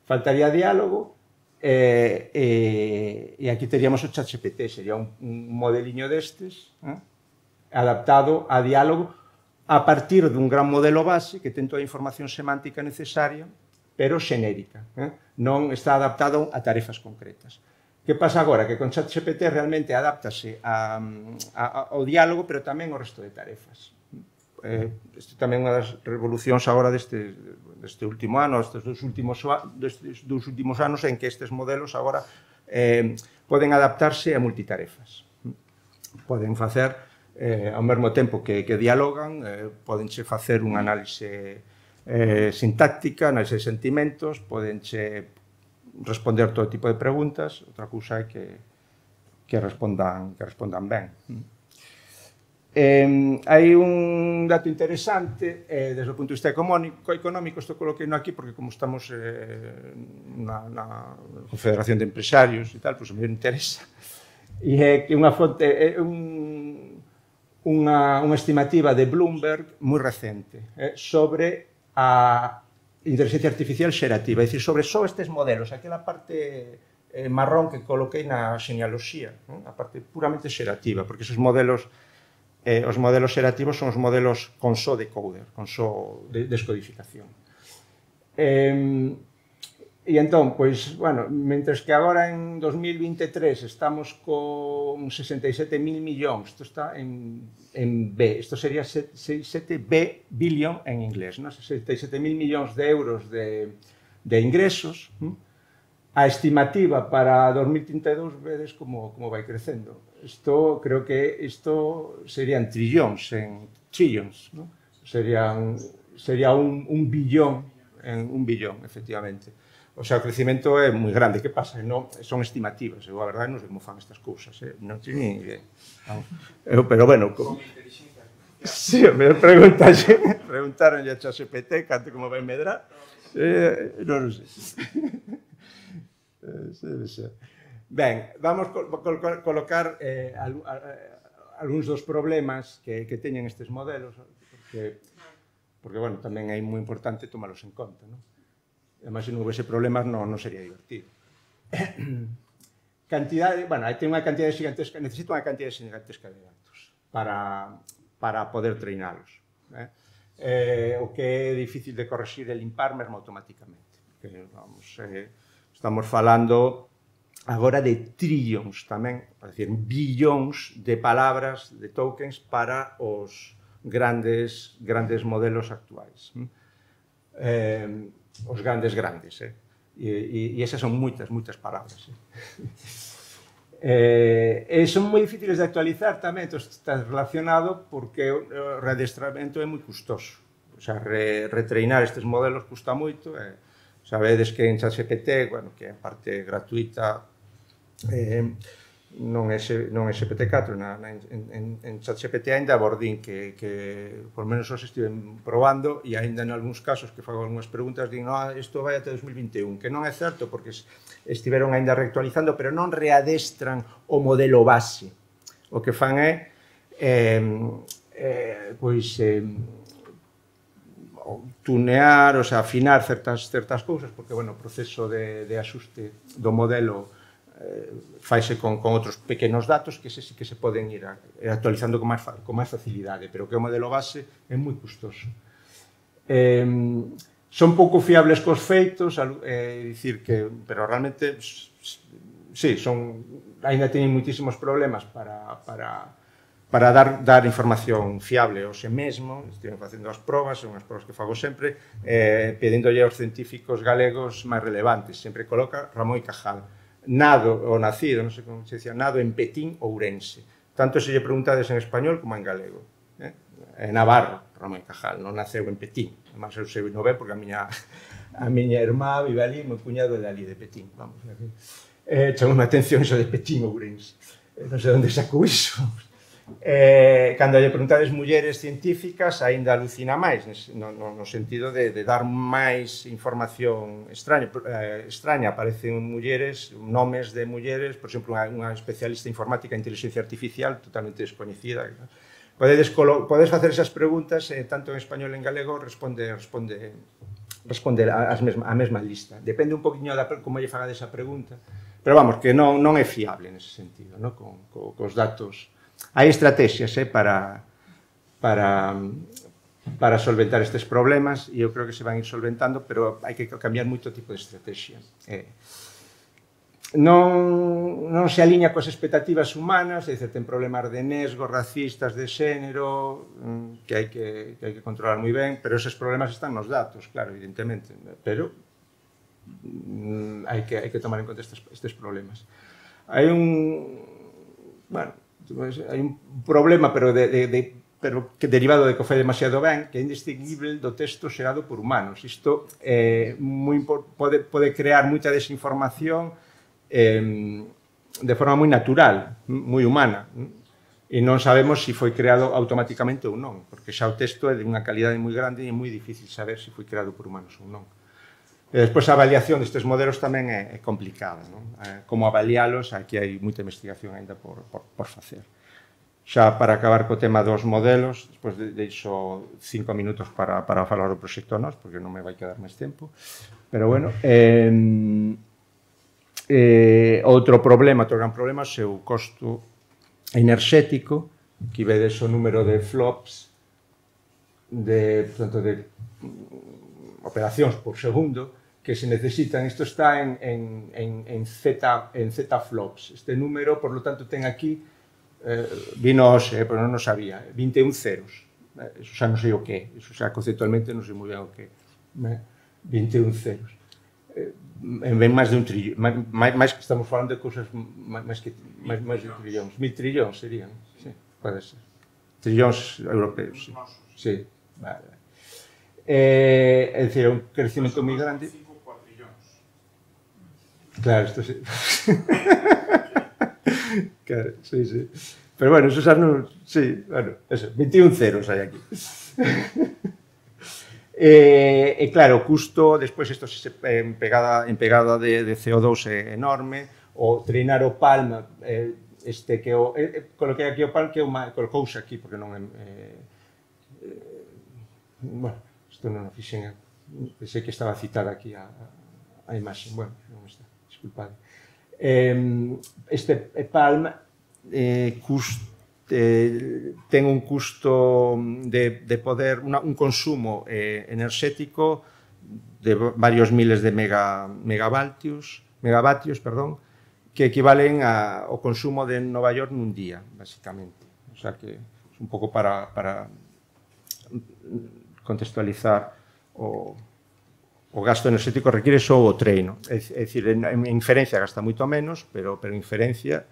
Faltaría diálogo. Eh, eh, e aquí teríamos o ChatGPT, sería un, un modeliño destes, eh, adaptado a diálogo a partir dun gran modelo base que ten toda a información semántica necesaria, pero xenérica, eh, non está adaptado a tarefas concretas. Que pasa agora? Que con ChatGPT realmente adáptase a, a, ao diálogo, pero tamén ao resto de tarefas. Eh, isto tamén é unha das revolucións agora deste, deste último ano, destes dos últimos, destes dos últimos anos en que estes modelos agora eh, poden adaptarse a multitarefas. Poden facer eh, ao mesmo tempo que, que dialogan, eh, podenche facer unha análise eh, sintáctica, análise de sentimentos, podenche responder todo tipo de preguntas, outra cousa é que, que, respondan, que respondan ben. Eh, hai un dato interesante eh, desde o punto de vista económico, económico isto coloquei no aquí porque como estamos eh, na, na Confederación de Empresarios e tal, pois pues, me interesa, e é que unha fonte, é un, unha, unha estimativa de Bloomberg moi recente eh, sobre a inteligencia artificial xerativa, é dicir, sobre só estes modelos, aquela parte eh, marrón que coloquei na xenealoxía, ¿no? A parte puramente xerativa, porque esos modelos Eh, os modelos xerativos son os modelos con só decoder, con só de descodificación. Eh, e entón, pois, bueno, mentres que agora en dos mil vinte e tres estamos con sesenta e sete mil millóns, isto está en, en B, isto sería sete B billion en inglés, ¿no? sesenta e sete mil millóns de euros de, de ingresos, ¿no? A estimativa para dos mil trinta e dous vedes como, como vai crecendo. Isto, creo que isto serían trillóns, en trillions, ¿no? Serían, sería un, un billón, en un billón, efectivamente. O sea, o crecimento é moi grande. Que pasa? Non, son estimativas. Eu, a verdade, non sei como fan estas cousas. Eh? Non teño ni idea. Eu, pero, bueno... Como... Sí, me preguntaron, preguntaron a ChatGPT cante como vai medrar. Eh, non o sei. Ben, vamos col col colocar eh, al a, a, algúns dos problemas que, que teñen estes modelos, porque, porque bueno, tamén é moi importante tomalos en conta, non? Ademais, se non houvese problemas, non, non sería divertido. Cantidade, bueno, hai ten unha cantidade gigantesca, necesito unha cantidade gigantesca de datos para, para poder treinalos. Eh? Eh, o que é difícil de corregir e limpar mesmo automáticamente. Porque, vamos, eh, estamos falando agora de trillions tamén, é dicir, billóns de palabras, de tokens para os grandes, grandes modelos actuais. Eh, os grandes grandes, eh? E, e, e esas son moitas, moitas palabras. Eh, e son moi difíciles de actualizar tamén, isto está relacionado porque o readestramento é moi custoso. O sea, re, retreinar estes modelos custa moito, e sabedes que en ChatGPT, bueno, que é parte gratuita, eh, non é, non é G P T catro, na, na, en, en ChatGPT ainda abordín que, que por menos os estiven probando e ainda en algúns casos que fago algunhas preguntas din, no, isto vai até dos mil vinte e un, que non é certo porque estiveron ainda reactualizando, pero non readestran o modelo base. O que fan é, eh, eh, pois, eh, tunear, o sea, afinar certas, certas cousas, porque, bueno, o proceso de, de axuste do modelo eh, faise con, con outros pequenos datos que se, que se poden ir a, actualizando con máis, con máis facilidade, pero que o modelo base é moi custoso. Eh, son pouco fiables cos feitos, é eh, dicir que, pero realmente, sí, son, ainda teñen moitísimos problemas para... para para dar, dar información fiable ao xe mesmo, estiven facendo as probas, son as probas que fago sempre, eh, pedíndolle aos científicos galegos máis relevantes, sempre coloca Ramón y Cajal, nado ou nacido, non sei como se decía, nado en Petín, Ourense, tanto se lle preguntades en español como en galego, eh? En Navarro, Ramón y Cajal, non naceu en Petín, además eu sei non ve porque a miña, a miña irmá vive ali, meu cuñado é de ali, de Petín, vamos, eh, chamou a atención iso de Petín, Ourense, eh, non sei onde sacou iso. Eh, cando lle preguntades mulleres científicas aínda alucina máis no, no, no sentido de, de dar máis información extraña, eh, extraña aparecen mulleres, nomes de mulleres, por exemplo, unha, unha especialista informática en inteligencia artificial totalmente descoñecida. Podedes, podes facer esas preguntas eh, tanto en español e en galego, responde responde, responde as mesma, a mesma lista, depende un poquinho da como lle faga desa pregunta, pero vamos, que non, non é fiable nese sentido, ¿no? con, con, cos datos. Hai estrategias eh, para, para, para solventar estes problemas e eu creo que se van ir solventando, pero hai que cambiar moito tipo de estrategia. Eh, non, non se alinea coas expectativas humanas, é dicir, ten problemas de nesgo, racistas, de xénero, que hai que, que, hai que controlar moi ben, pero esos problemas están nos datos, claro, evidentemente, pero mm, hai, que, hai que tomar en conta estes, estes problemas. Hai un... bueno, hai un problema, pero, de, de, de, pero que derivado de que o fai demasiado ben, que é indistinguible do texto xerado por humanos. Isto eh, moi, pode, pode crear moita desinformación eh, de forma moi natural, moi humana. e non sabemos se foi creado automáticamente ou non, porque xa o texto é de unha calidade moi grande e é moi difícil saber se foi creado por humanos ou non. E despois a avaliación destes modelos tamén é, é complicada, non? Eh, como avalialos, aquí hai moita investigación ainda por, por, por facer. Xa para acabar co tema dos modelos, despois de, deixo cinco minutos para, para falar do proxecto N O S, porque non me vai quedar máis tempo, pero bueno, eh, eh, outro problema, outro gran problema, é o seu costo enerxético, que vedes o número de flops de, portanto, de operacións por segundo que se necesitan. Isto está en, en, en, en, Z, en Z flops. Este número, por lo tanto, ten aquí, eh, vinos, eh, pero non o sabía, vinte e un ceros. Eh, eso xa non sei o que, eso xa conceptualmente non sei moi ben o que. Eh, vinte e un ceros. Eh, en vez máis de un trillón, máis, máis que estamos falando de cousas máis, que, máis, máis de trillóns, mil trillóns serían, sí, pode ser. Trillóns europeos, sí. Sí, vale. Eh, é dicir, é un crecimento moi grande. cinco cuatrillóns. Claro, isto sí. Claro, sí, sí. Pero bueno, eso xa non... Sí, bueno, eso, vinte e un ceros hai aquí. E, e claro, o custo, despois isto en pegada, en pegada de, de C O dos é enorme, o treinar o Palm, eh, este que o... Eh, coloquei aquí o Palm que é unha... Colocouse aquí, porque non é... Eh, eh, bueno, isto non o fixen, pensei que estaba citada aquí a, a, a imaxe, bueno, non está, disculpade. Eh, este Palm eh, cust, eh, ten un custo de, de poder, una, un consumo eh, enerxético de varios miles de mega, megavatios, megavatios, perdón, que equivalen a, ao consumo de Nova York nun día, basicamente. O sea que é un pouco para... para contextualizar o, o gasto enerxético require só o treino. É, é dicir, en, en inferencia gasta moito menos, pero, pero inferencia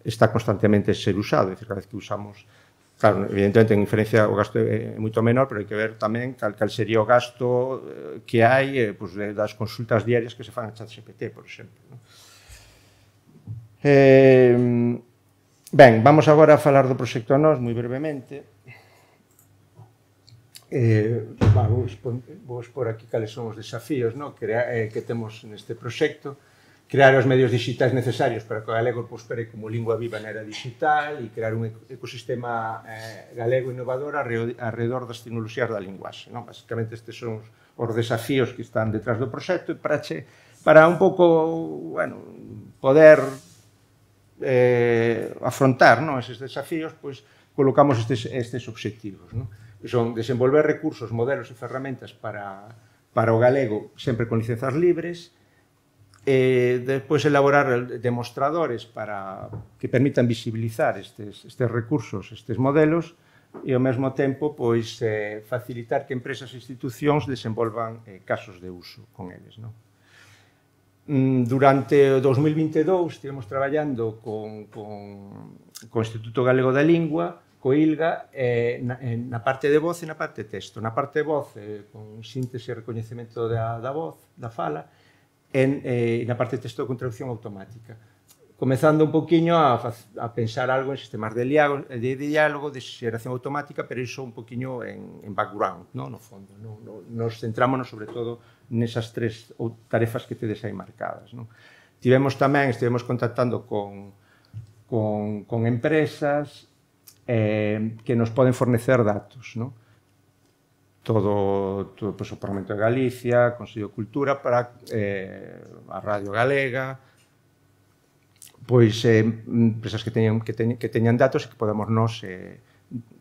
está constantemente ser usado. É dicir, cada vez que usamos... Claro, evidentemente, en inferencia o gasto é moito menor, pero hai que ver tamén cal, cal sería o gasto que hai eh, pues, das consultas diarias que se fan a ChatGPT, por exemplo. ¿No? Eh, ben, vamos agora a falar do proxecto N O S moi brevemente. Eh, va, vou, expor, vou expor aquí cales son os desafíos, no? que, eh, que temos neste proxecto. Crear os medios digitais necesarios para que o galego prospere como lingua viva na era digital e crear un ecosistema eh, galego innovador alrededor das tecnoloxías da linguaxe. No? Basicamente, estes son os desafíos que están detrás do proxecto e para, che, para un pouco, bueno, poder eh, afrontar, no? eses desafíos, pois colocamos estes, estes obxectivos. No? Son desenvolver recursos, modelos e ferramentas para, para o galego sempre con licenzas libres, e despois elaborar demostradores para que permitan visibilizar estes, estes recursos, estes modelos, e ao mesmo tempo pois, eh, facilitar que empresas e institucións desenvolvan eh, casos de uso con eles. No? Durante o dos mil vinte e dous estivemos traballando con, con, con o Instituto Galego da Lingua, co ILGA, eh, na, na parte de voz e na parte de texto. Na parte de voz, eh, con síntese e recoñecemento da, da voz, da fala, e eh, na parte de texto con traducción automática. Comezando un poquinho a, a pensar algo en sistemas de diálogo, de diálogo, de xeración automática, pero iso un poquinho en, en background, no, no fondo. No, no, nos centrámonos sobre todo nesas tres tarefas que tedes aí marcadas. No. Tivemos tamén, estivemos contactando con, con, con empresas Eh, que nos poden fornecer datos, ¿no? Todo, todo pues, o Parlamento de Galicia, Consello de Cultura, para eh, a Radio Galega, pois eh, empresas que teñan, que, teñan, que teñan datos e que podamos nos eh,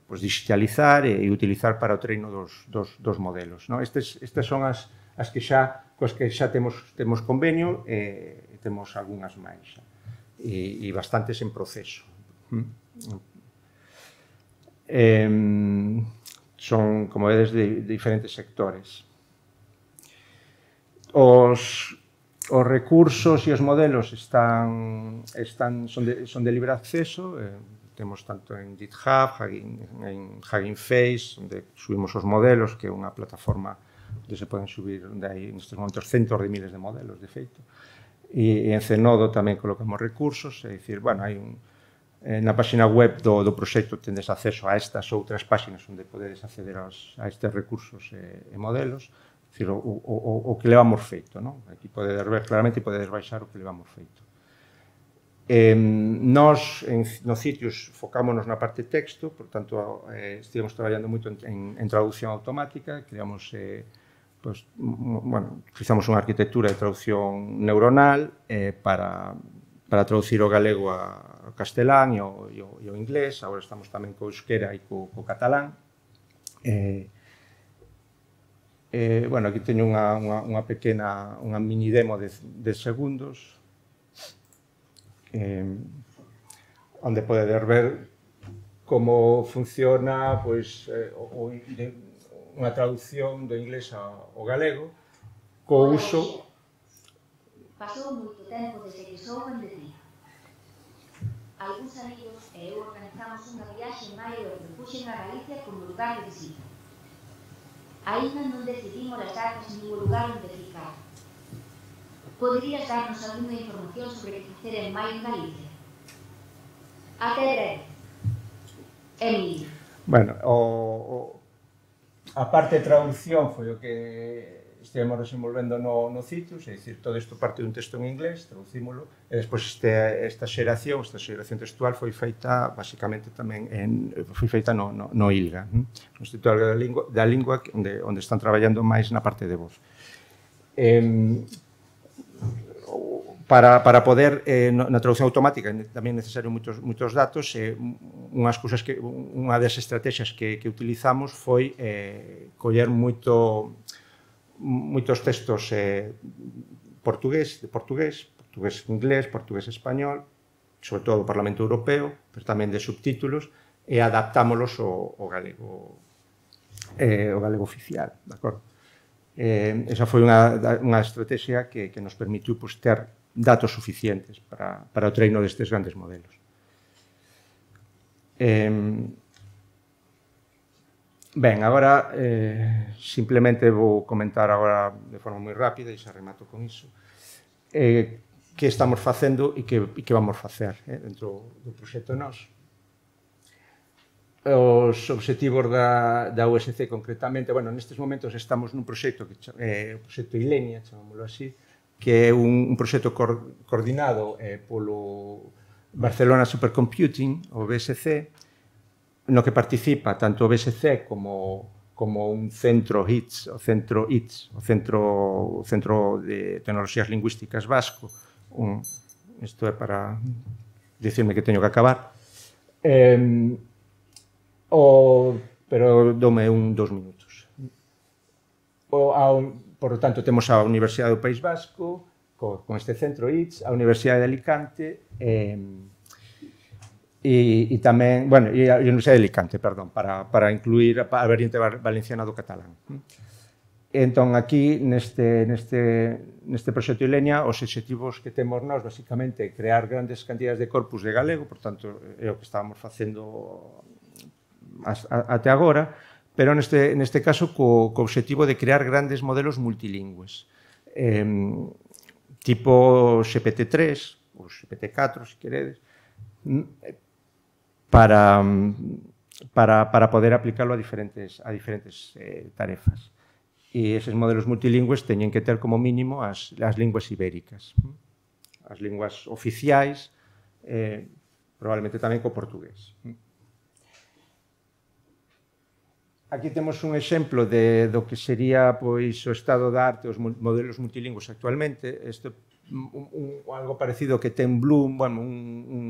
pues, digitalizar e, e utilizar para o treino dos, dos, dos modelos. ¿No? Estes, estas son as, as que xa, cos que xa temos, temos convenio e eh, temos algunhas máis xa, e, e bastantes en proceso. ¿Mm? Eh, son, como vedes, de, de diferentes sectores. Os, os recursos e os modelos están, están, son, de, son de libre acceso, eh, temos tanto en GitHub, Hugging, en Hugging Face, onde subimos os modelos, que é unha plataforma onde se poden subir, onde hai nestes momentos centos de miles de modelos, de feito. E, e en Zenodo tamén colocamos recursos, é dicir, bueno, hai un na página web do, do proxecto tendes acceso a estas outras páxinas onde podedes acceder aos, a estes recursos e, e modelos, decir, o, o, o que levamos feito, non? Aquí podedes ver claramente e podedes baixar o que levamos feito. Eh, nós, en, nos sitios, focámonos na parte texto, por tanto, eh, estivemos traballando moito en, en, en traducción automática, creamos, eh, pues, bueno, utilizamos unha arquitectura de traducción neuronal eh, para, para traducir o galego a castelán e o, e, o, e o inglés, agora estamos tamén co euskera e co, co catalán. Eh, eh, bueno, aquí teño unha, unha, unha pequena, unha mini demo de, de segundos, eh, onde podedes ver como funciona pois, eh, o, o, de, unha traducción do inglés ao galego, co uso... Pasou moito tempo desde que souben de ti. Algúns amigos e eu organizamos unha viaxe en maio e propuxen a Galicia como lugar de visita. Ainda non decidimos as datas nin o lugar onde ficar. Poderías darnos alguna información sobre que facer en maio en Galicia? Até breve. Emilio. Bueno, o, o, a parte de traducción foi o que estivemos desenvolvendo no, no Citrus, é dicir, todo isto parte dun texto en inglés, traducímolo, e despois este, esta xeración, esta xeración textual foi feita, basicamente, tamén en, foi feita no, no, no ILGA, no Instituto da Lingua, da Lingua onde, onde están traballando máis na parte de voz. Eh, para, para poder, eh, na traducción automática, tamén é necesario moitos, moitos datos, e eh, unhas cousas que, unha das estrategias que, que utilizamos foi eh, coller moito moitos textos eh, portugués, de portugués, portugués inglés, portugués español, sobre todo do Parlamento Europeo, pero tamén de subtítulos, e adaptámolos ao, ao galego, eh, ao galego oficial, de acordo? Eh, esa foi unha, unha estrategia que, que nos permitiu pues, ter datos suficientes para, para o treino destes grandes modelos. Eh, Ben, agora eh, simplemente vou comentar agora de forma moi rápida e xa remato con iso eh, que estamos facendo e que, e que vamos facer eh, dentro do proxecto nós. Os obxectivos da, da U S C concretamente, bueno, nestes momentos estamos nun proxecto que é eh, o proxecto Ilenia, chamámoslo así, que é un, un proxecto cor, coordinado eh, polo Barcelona Supercomputing, o B S C, no que participa tanto o B S C como, como un centro I T S, o centro I T S, o Centro, o centro de Tecnoloxías Lingüísticas Vasco. Un, isto é para dicirme que teño que acabar. Eh, o, pero dome un, dos minutos. O, a, por lo tanto, temos a Universidade do País Vasco, co, con este centro I T S, a Universidade de Alicante, eh, E, e tamén, bueno, e a Universidade de Alicante, perdón, para, para incluir a variante valenciana do catalán. Entón, aquí, neste, neste, neste proxecto Ilenia, os obxectivos que temos nós, basicamente, crear grandes cantidades de corpus de galego, por tanto, é o que estábamos facendo até agora, pero neste, neste caso, co, co obxectivo de crear grandes modelos multilingües, eh, tipo G P T tres, ou G P T catro, se queredes, para, para, para poder aplicarlo a diferentes, a diferentes eh, tarefas. E eses modelos multilingües teñen que ter como mínimo as, as linguas ibéricas, as linguas oficiais, eh, probablemente tamén co portugués. Aquí temos un exemplo de, do que sería pois, o estado da arte, os modelos multilingües actualmente. Isto un, un, algo parecido que ten Bloom, bueno, un, un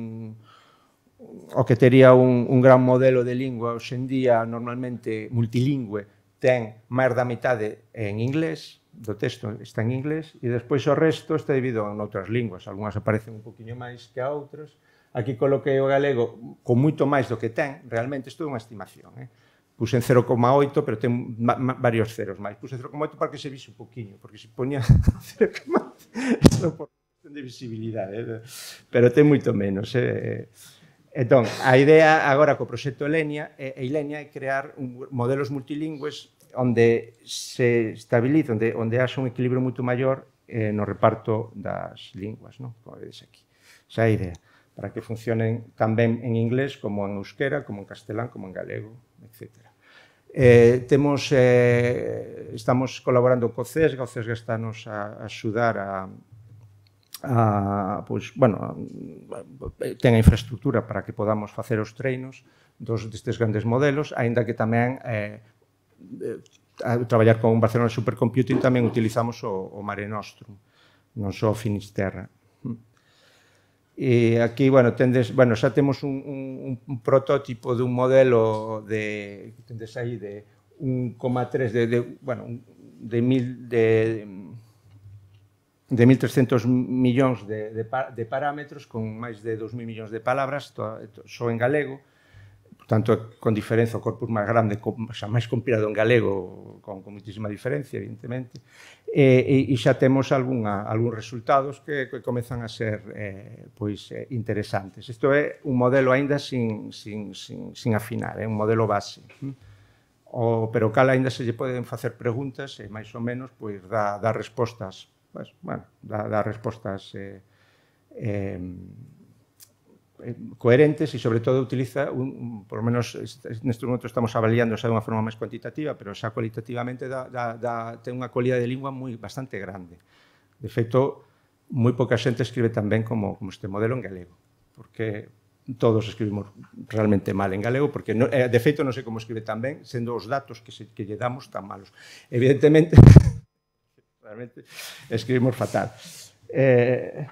o que tería un, un gran modelo de lingua hoxe en día, normalmente multilingüe, ten máis da metade en inglés, do texto está en inglés, e despois o resto está dividido en outras linguas, algunhas aparecen un poquinho máis que a outras. Aquí coloquei o galego con moito máis do que ten, realmente isto é unha estimación, eh? Puse en cero coma oito, pero ten varios ceros máis. Puse cero coma oito para que se vise un poquinho, porque se ponía cero coma oito, isto por cuestión de visibilidade, eh? Pero ten moito menos, eh? Entón, a idea agora co proxecto Ilenia é, Ilenia é crear un, modelos multilingües onde se estabiliza, onde, onde haxa un equilibrio moito maior eh, no reparto das linguas, non? Como vedes aquí. Esa é a idea. para que funcionen tamén en inglés como en euskera, como en castelán, como en galego, etcétera. Eh, temos, eh, estamos colaborando co CESGA, o CESGA está nos a, a axudar a, a, pois, bueno, ten a infraestructura para que podamos facer os treinos dos destes grandes modelos, aínda que tamén eh, a traballar con Barcelona Supercomputing tamén utilizamos o, o Mare Nostrum, non só Finisterra. E aquí, bueno, tendes, bueno, xa temos un, un, un protótipo dun modelo de, tendes aí, de un coma tres, de, de, bueno, de mil, de, de mil trescentos millóns de, de, de parámetros con máis de dous mil millóns de palabras, só en galego, tanto con diferenza o corpus máis grande, xa máis compilado en galego, con, con muitísima diferencia, evidentemente, e, e, e xa temos algún resultados que, que comezan a ser eh, pois, eh, interesantes. Isto é un modelo aínda sin, sin, sin, sin afinar, é un modelo base, o, pero cal aínda se lle poden facer preguntas e máis ou menos pois, dá, dá respostas, pues, bueno, dá, dá respostas eh, eh, coherentes e, sobre todo, utiliza, un, por lo menos, neste momento estamos avaliando xa de unha forma máis cuantitativa, pero xa cualitativamente dá, dá, dá, ten unha cualidade de lingua moi bastante grande. De feito, moi pouca xente escribe tan ben como, como este modelo en galego, porque todos escribimos realmente mal en galego, porque, no, eh, de feito, non sei como escribe tan ben, sendo os datos que, se, que lle damos tan malos. Evidentemente, realmente, escribimos fatal. Eh...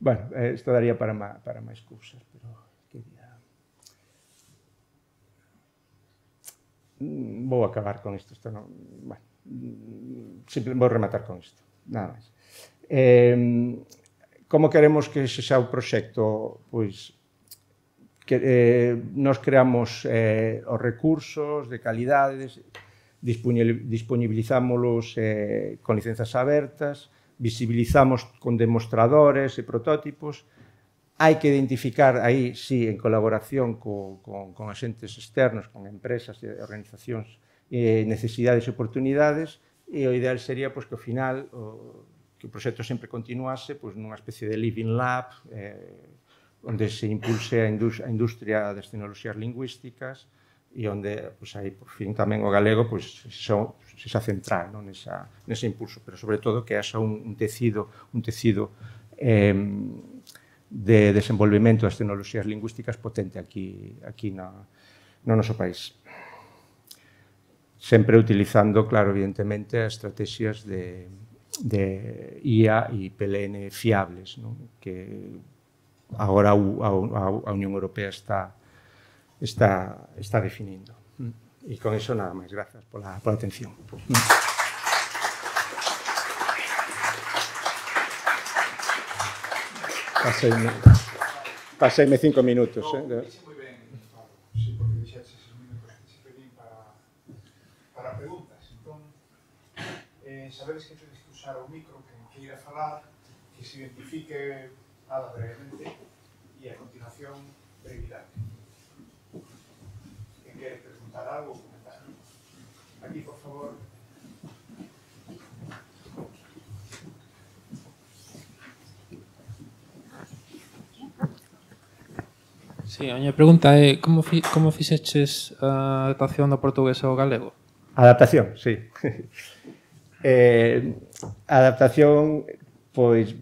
Bueno, isto daría para, má, para máis cousas, pero quería... Vou acabar con isto, isto non... Bueno, simplemente vou rematar con isto, nada máis. Eh, como queremos que sexa o proxecto? Pois, que eh, nos creamos eh, os recursos de calidades, disponibilizámolos eh, con licenzas abertas, visibilizamos con demostradores e protótipos, hai que identificar aí, sí, en colaboración co, con, con axentes externos, con empresas e organizacións, eh, necesidades e oportunidades, e o ideal sería pois, que ao final o, que o proxecto sempre continuase pois, nunha especie de living lab, eh, onde se impulse a, indus a industria das tecnoloxías lingüísticas e onde, pois, aí, por fin, tamén o galego pois, son, se xa central non? Nesa, nese impulso, pero sobre todo que haxa un, un tecido, un tecido eh, de desenvolvemento das tecnoloxías lingüísticas potente aquí, aquí na, no noso país. Sempre utilizando, claro, evidentemente, as estrategias de, de I A e P L N fiables, non? Que agora a, a, a Unión Europea está Está, está definindo. E con iso nada máis. Grazas pola, pola atención. Paseime, paseime cinco minutos. No, eh? Dixe moi ben, sí, porque dixeches esos minutos que se pedín para, para preguntas. Entón, eh, sabedes que tedes que usar o micro, que queira falar, que se identifique nada brevemente, e a continuación, brevidade. Quere preguntar algo ou comentar? Aquí, por favor. Sí, a miña pregunta é como, fi, como fixeches a adaptación do portugués ao galego? Adaptación, sí. eh, adaptación, pois,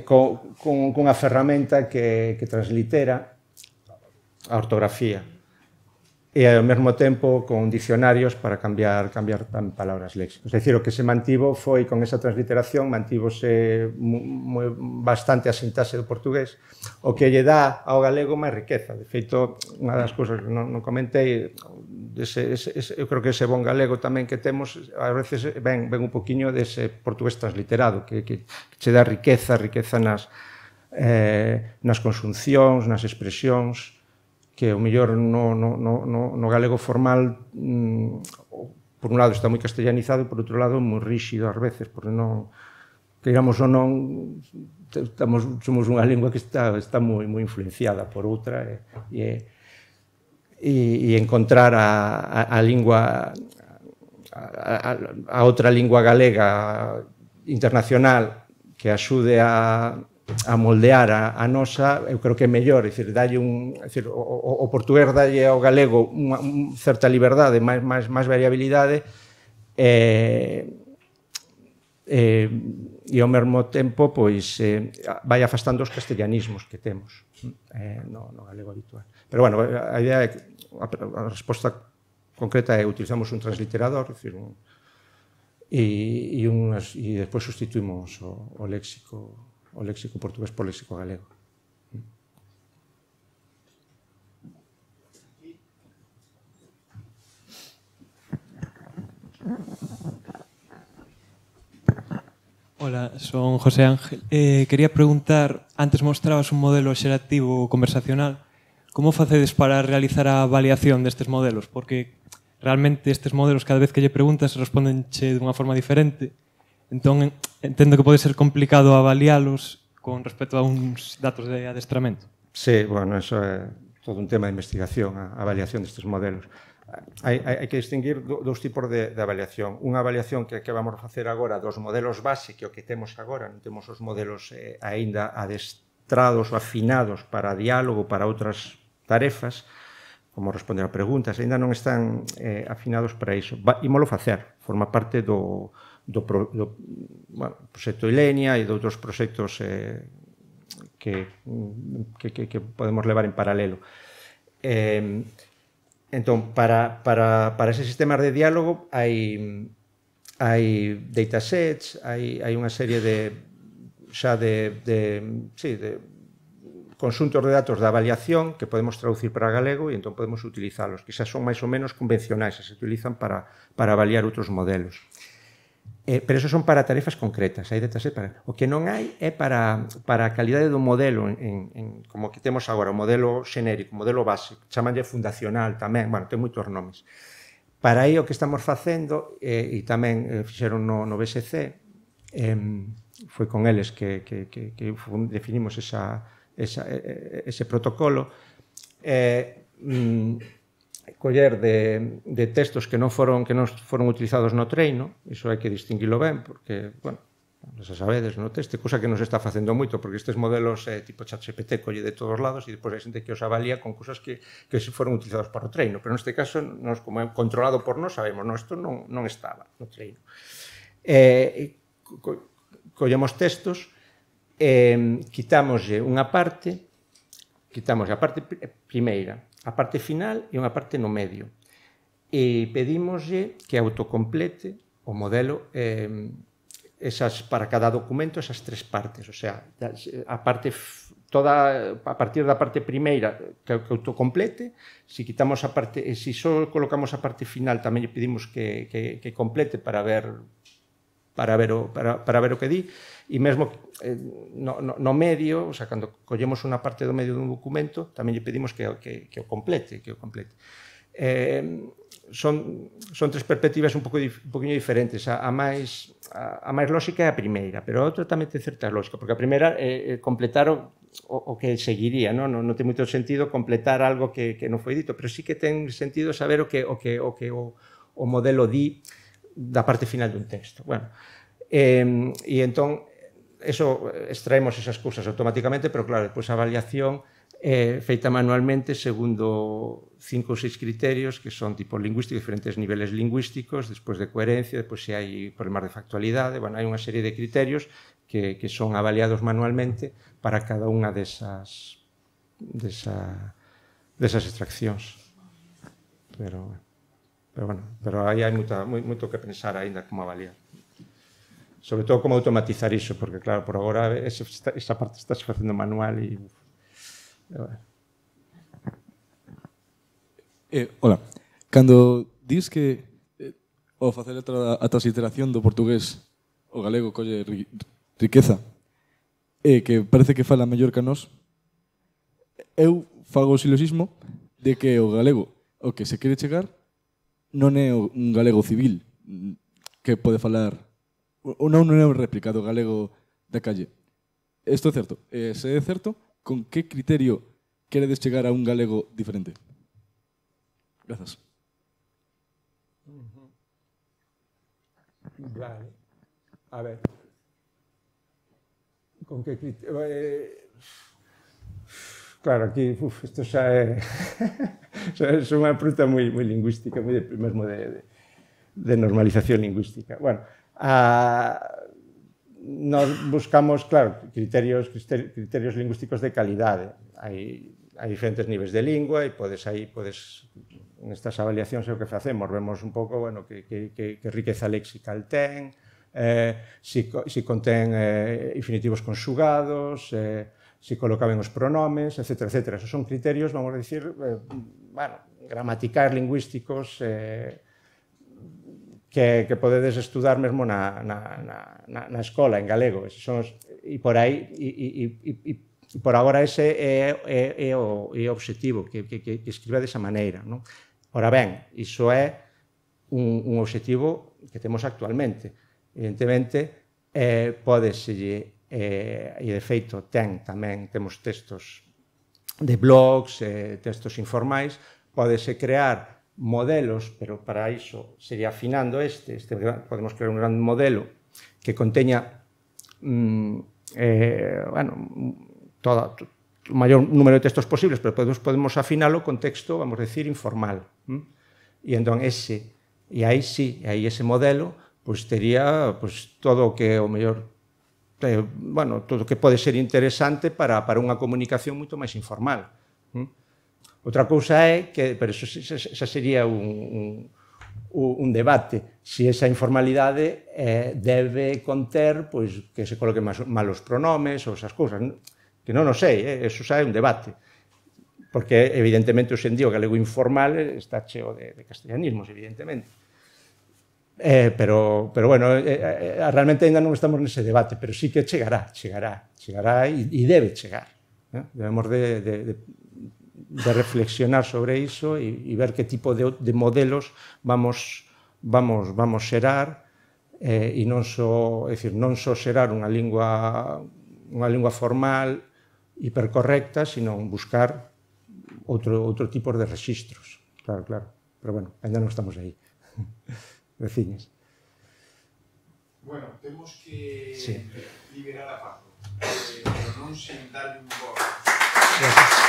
con, con, con unha ferramenta que, que translitera a ortografía e ao mesmo tempo con dicionarios para cambiar, cambiar palabras léxicos. É dicir, o que se mantivo foi, con esa transliteración, mantívose moi, bastante a sintaxe do portugués, o que lle dá ao galego máis riqueza. De feito, unha das cousas que non, non comentei, ese, ese, ese, eu creo que ese bon galego tamén que temos, a veces ven, ven un poquinho dese portugués transliterado, que, que, que che dá riqueza, riqueza nas, eh, nas consuncións, nas expresións, que o mellor no, no, no, no galego formal, mmm, por un lado está moi castellanizado e por outro lado moi ríxido ás veces, porque non, queiramos ou non, estamos, somos unha lingua que está, está moi, moi influenciada por outra e, e, e encontrar a, a, a lingua, a, a, a outra lingua galega internacional que axude a a moldear a, a nosa, eu creo que é mellor, é dicir, dalle un, é dicir, o, o, o portugués dalle ao galego unha, unha certa liberdade, máis, máis, máis variabilidade, e, e, e ao mesmo tempo pois, eh, vai afastando os castellanismos que temos eh, no, no galego habitual. Pero, bueno, a idea é que a, a resposta concreta é utilizamos un transliterador, é dicir, un, e, e, unhas, e despois sustituimos o, o léxico o léxico portugués por léxico galego. Hola, son José Ángel. Eh, quería preguntar, antes mostrabas un modelo xerativo conversacional. Como facedes para realizar a avaliación destes modelos? Porque realmente estes modelos, cada vez que lle preguntas, respondenche dunha forma diferente. Entón, entendo que pode ser complicado avalialos con respecto a uns datos de adestramento. Sí, bueno, eso é todo un tema de investigación, a avaliación destes modelos. Hai, hai, hai que distinguir dous tipos de, de avaliación. Unha avaliación que, que vamos a facer agora dos modelos base, que o que temos agora, non temos os modelos eh, aínda adestrados ou afinados para diálogo, para outras tarefas, como responder a preguntas, aínda non están eh, afinados para iso. Ímolo facer, forma parte do... do, do bueno, proxecto Ilenia e de outros proxectos eh, que, que, que, que podemos levar en paralelo. Eh, entón, para, para, para ese sistema de diálogo hai, hai datasets, hai, hai unha serie de xa de, de, sí, de conxuntos de datos de avaliación que podemos traducir para galego e entón podemos utilizalos, que xa son máis ou menos convencionais, se utilizan para, para avaliar outros modelos. Eh, pero eso son para tarefas concretas. Hai datasets para... O que non hai é para, para a calidade do modelo, en, en, como que temos agora, o modelo xenérico, o modelo básico, chamanlle fundacional tamén, bueno, ten moitos nomes. Para aí o que estamos facendo, eh, e tamén eh, fixeron no, no B S C, eh, foi con eles que, que, que, que definimos esa, esa, ese protocolo, eh, mm, coller de, de textos que non foron que non foron utilizados no treino, iso hai que distinguilo ben, porque, bueno, xa sabedes, no texto, cousa que nos está facendo moito, porque estes modelos eh, tipo ChatGPT colle de todos lados e depois hai xente que os avalía con cousas que, que foron utilizados para o treino, pero neste caso, nos, como é controlado por nós, sabemos, non, isto non, non estaba no treino. Eh, co, collemos textos, eh, quitámoslle unha parte, quitámoslle a parte primeira, a parte final e unha parte no medio. E pedímoslle que autocomplete o modelo eh, esas, para cada documento esas tres partes. O sea, a parte toda a partir da parte primeira que, que autocomplete, se quitamos a parte, e se só colocamos a parte final tamén lle pedimos que, que, que complete para ver para ver o, para, para ver o que di, e mesmo eh, no, no, no medio, o sea, cando collemos unha parte do medio dun documento, tamén lle pedimos que, que, que o complete, que o complete. Eh, son, son tres perspectivas un, pouco, un poquinho diferentes. A, a, máis, a, a máis lógica é a primeira, pero a outra tamén ten certa lógica, porque a primeira é eh, completar o, o, o que seguiría, non? Non, non ten moito sentido completar algo que, que non foi dito, pero sí que ten sentido saber o que o, que, o, que o, o modelo di da parte final dun texto. Bueno, eh, e entón, eso, extraemos esas cousas automáticamente, pero claro, depois a avaliación é feita manualmente segundo cinco ou seis criterios que son tipo lingüístico, diferentes niveles lingüísticos, despois de coherencia, despois se hai problemas de factualidade, bueno, hai unha serie de criterios que, que son avaliados manualmente para cada unha desas, desa, desas extraccións. Pero, pero bueno, pero aí hai moita, moito que pensar aínda como avaliar. Sobre todo como automatizar iso, porque claro, por agora esa, esa parte está se facendo manual e... Eh, hola, cando dis que eh, ao facer a, a transliteración do portugués o galego colle ri, riqueza e eh, que parece que fala mellor que a nós, eu fago o siloxismo de que o galego o que se quere chegar non é un galego civil que pode falar ou non, non é un réplica do galego da calle. Isto é certo. E se é certo, con que criterio queredes chegar a un galego diferente? Grazas. Vale. A ver. con que criterio... Eh, claro, aquí, uf, isto xa é... xa é unha pregunta moi, moi lingüística, moi de, mesmo de, de, de normalización lingüística. Bueno, a... nos buscamos, claro, criterios, criterios lingüísticos de calidade. Hai, hai diferentes niveis de lingua e podes aí, podes, nestas avaliacións é o que facemos, vemos un pouco, bueno, que, que, que, que riqueza léxical ten, eh, si, si contén eh, infinitivos conxugados, eh, si coloca ben os pronomes, etcétera, etcétera. Esos son criterios, vamos a dicir, eh, bueno, gramaticais, lingüísticos, eh, que, que podedes estudar mesmo na, na, na, na escola, en galego. Son os, e por aí, e, e, e, e por agora ese é, é, é, o, é o objetivo, que, que, que escriba desa maneira. Non? Ora ben, iso é un, un objetivo que temos actualmente. Evidentemente, eh, podeselle, eh, e de feito ten tamén, temos textos de blogs, eh, textos informais, podese crear modelos, pero para iso sería afinando este, este podemos crear un gran modelo que conteña mm, eh, bueno, todo, o maior número de textos posibles, pero podemos, podemos afinalo con texto, vamos a decir, informal. ¿Mm? E entón ese, e aí sí, aí ese modelo, pois tería pois, todo o que o mellor, eh, bueno, todo o que pode ser interesante para, para unha comunicación moito máis informal. ¿Mm? Outra cousa é que, pero eso xa sería un, un, un debate, se esa informalidade eh, debe conter pois, que se coloquen malos pronomes ou esas cousas, que non o sei, eh, eso xa é un debate, porque evidentemente hoxe en día o galego informal está cheo de, de castellanismos, evidentemente. Eh, pero, pero bueno, eh, eh, realmente ainda non estamos nese debate, pero sí que chegará, chegará, chegará e, e debe chegar. Eh? Debemos de, de, de de reflexionar sobre iso e, e ver que tipo de, de modelos vamos, vamos, vamos xerar eh, e non só, é dicir, non só xerar unha lingua, unha lingua formal hipercorrecta, sino buscar outro, outro tipo de registros. Claro, claro. Pero bueno, ainda non estamos aí. Veciñas. Bueno, temos que sí. liberar a Paco, eh, pero non sen darle un gol. Gracias.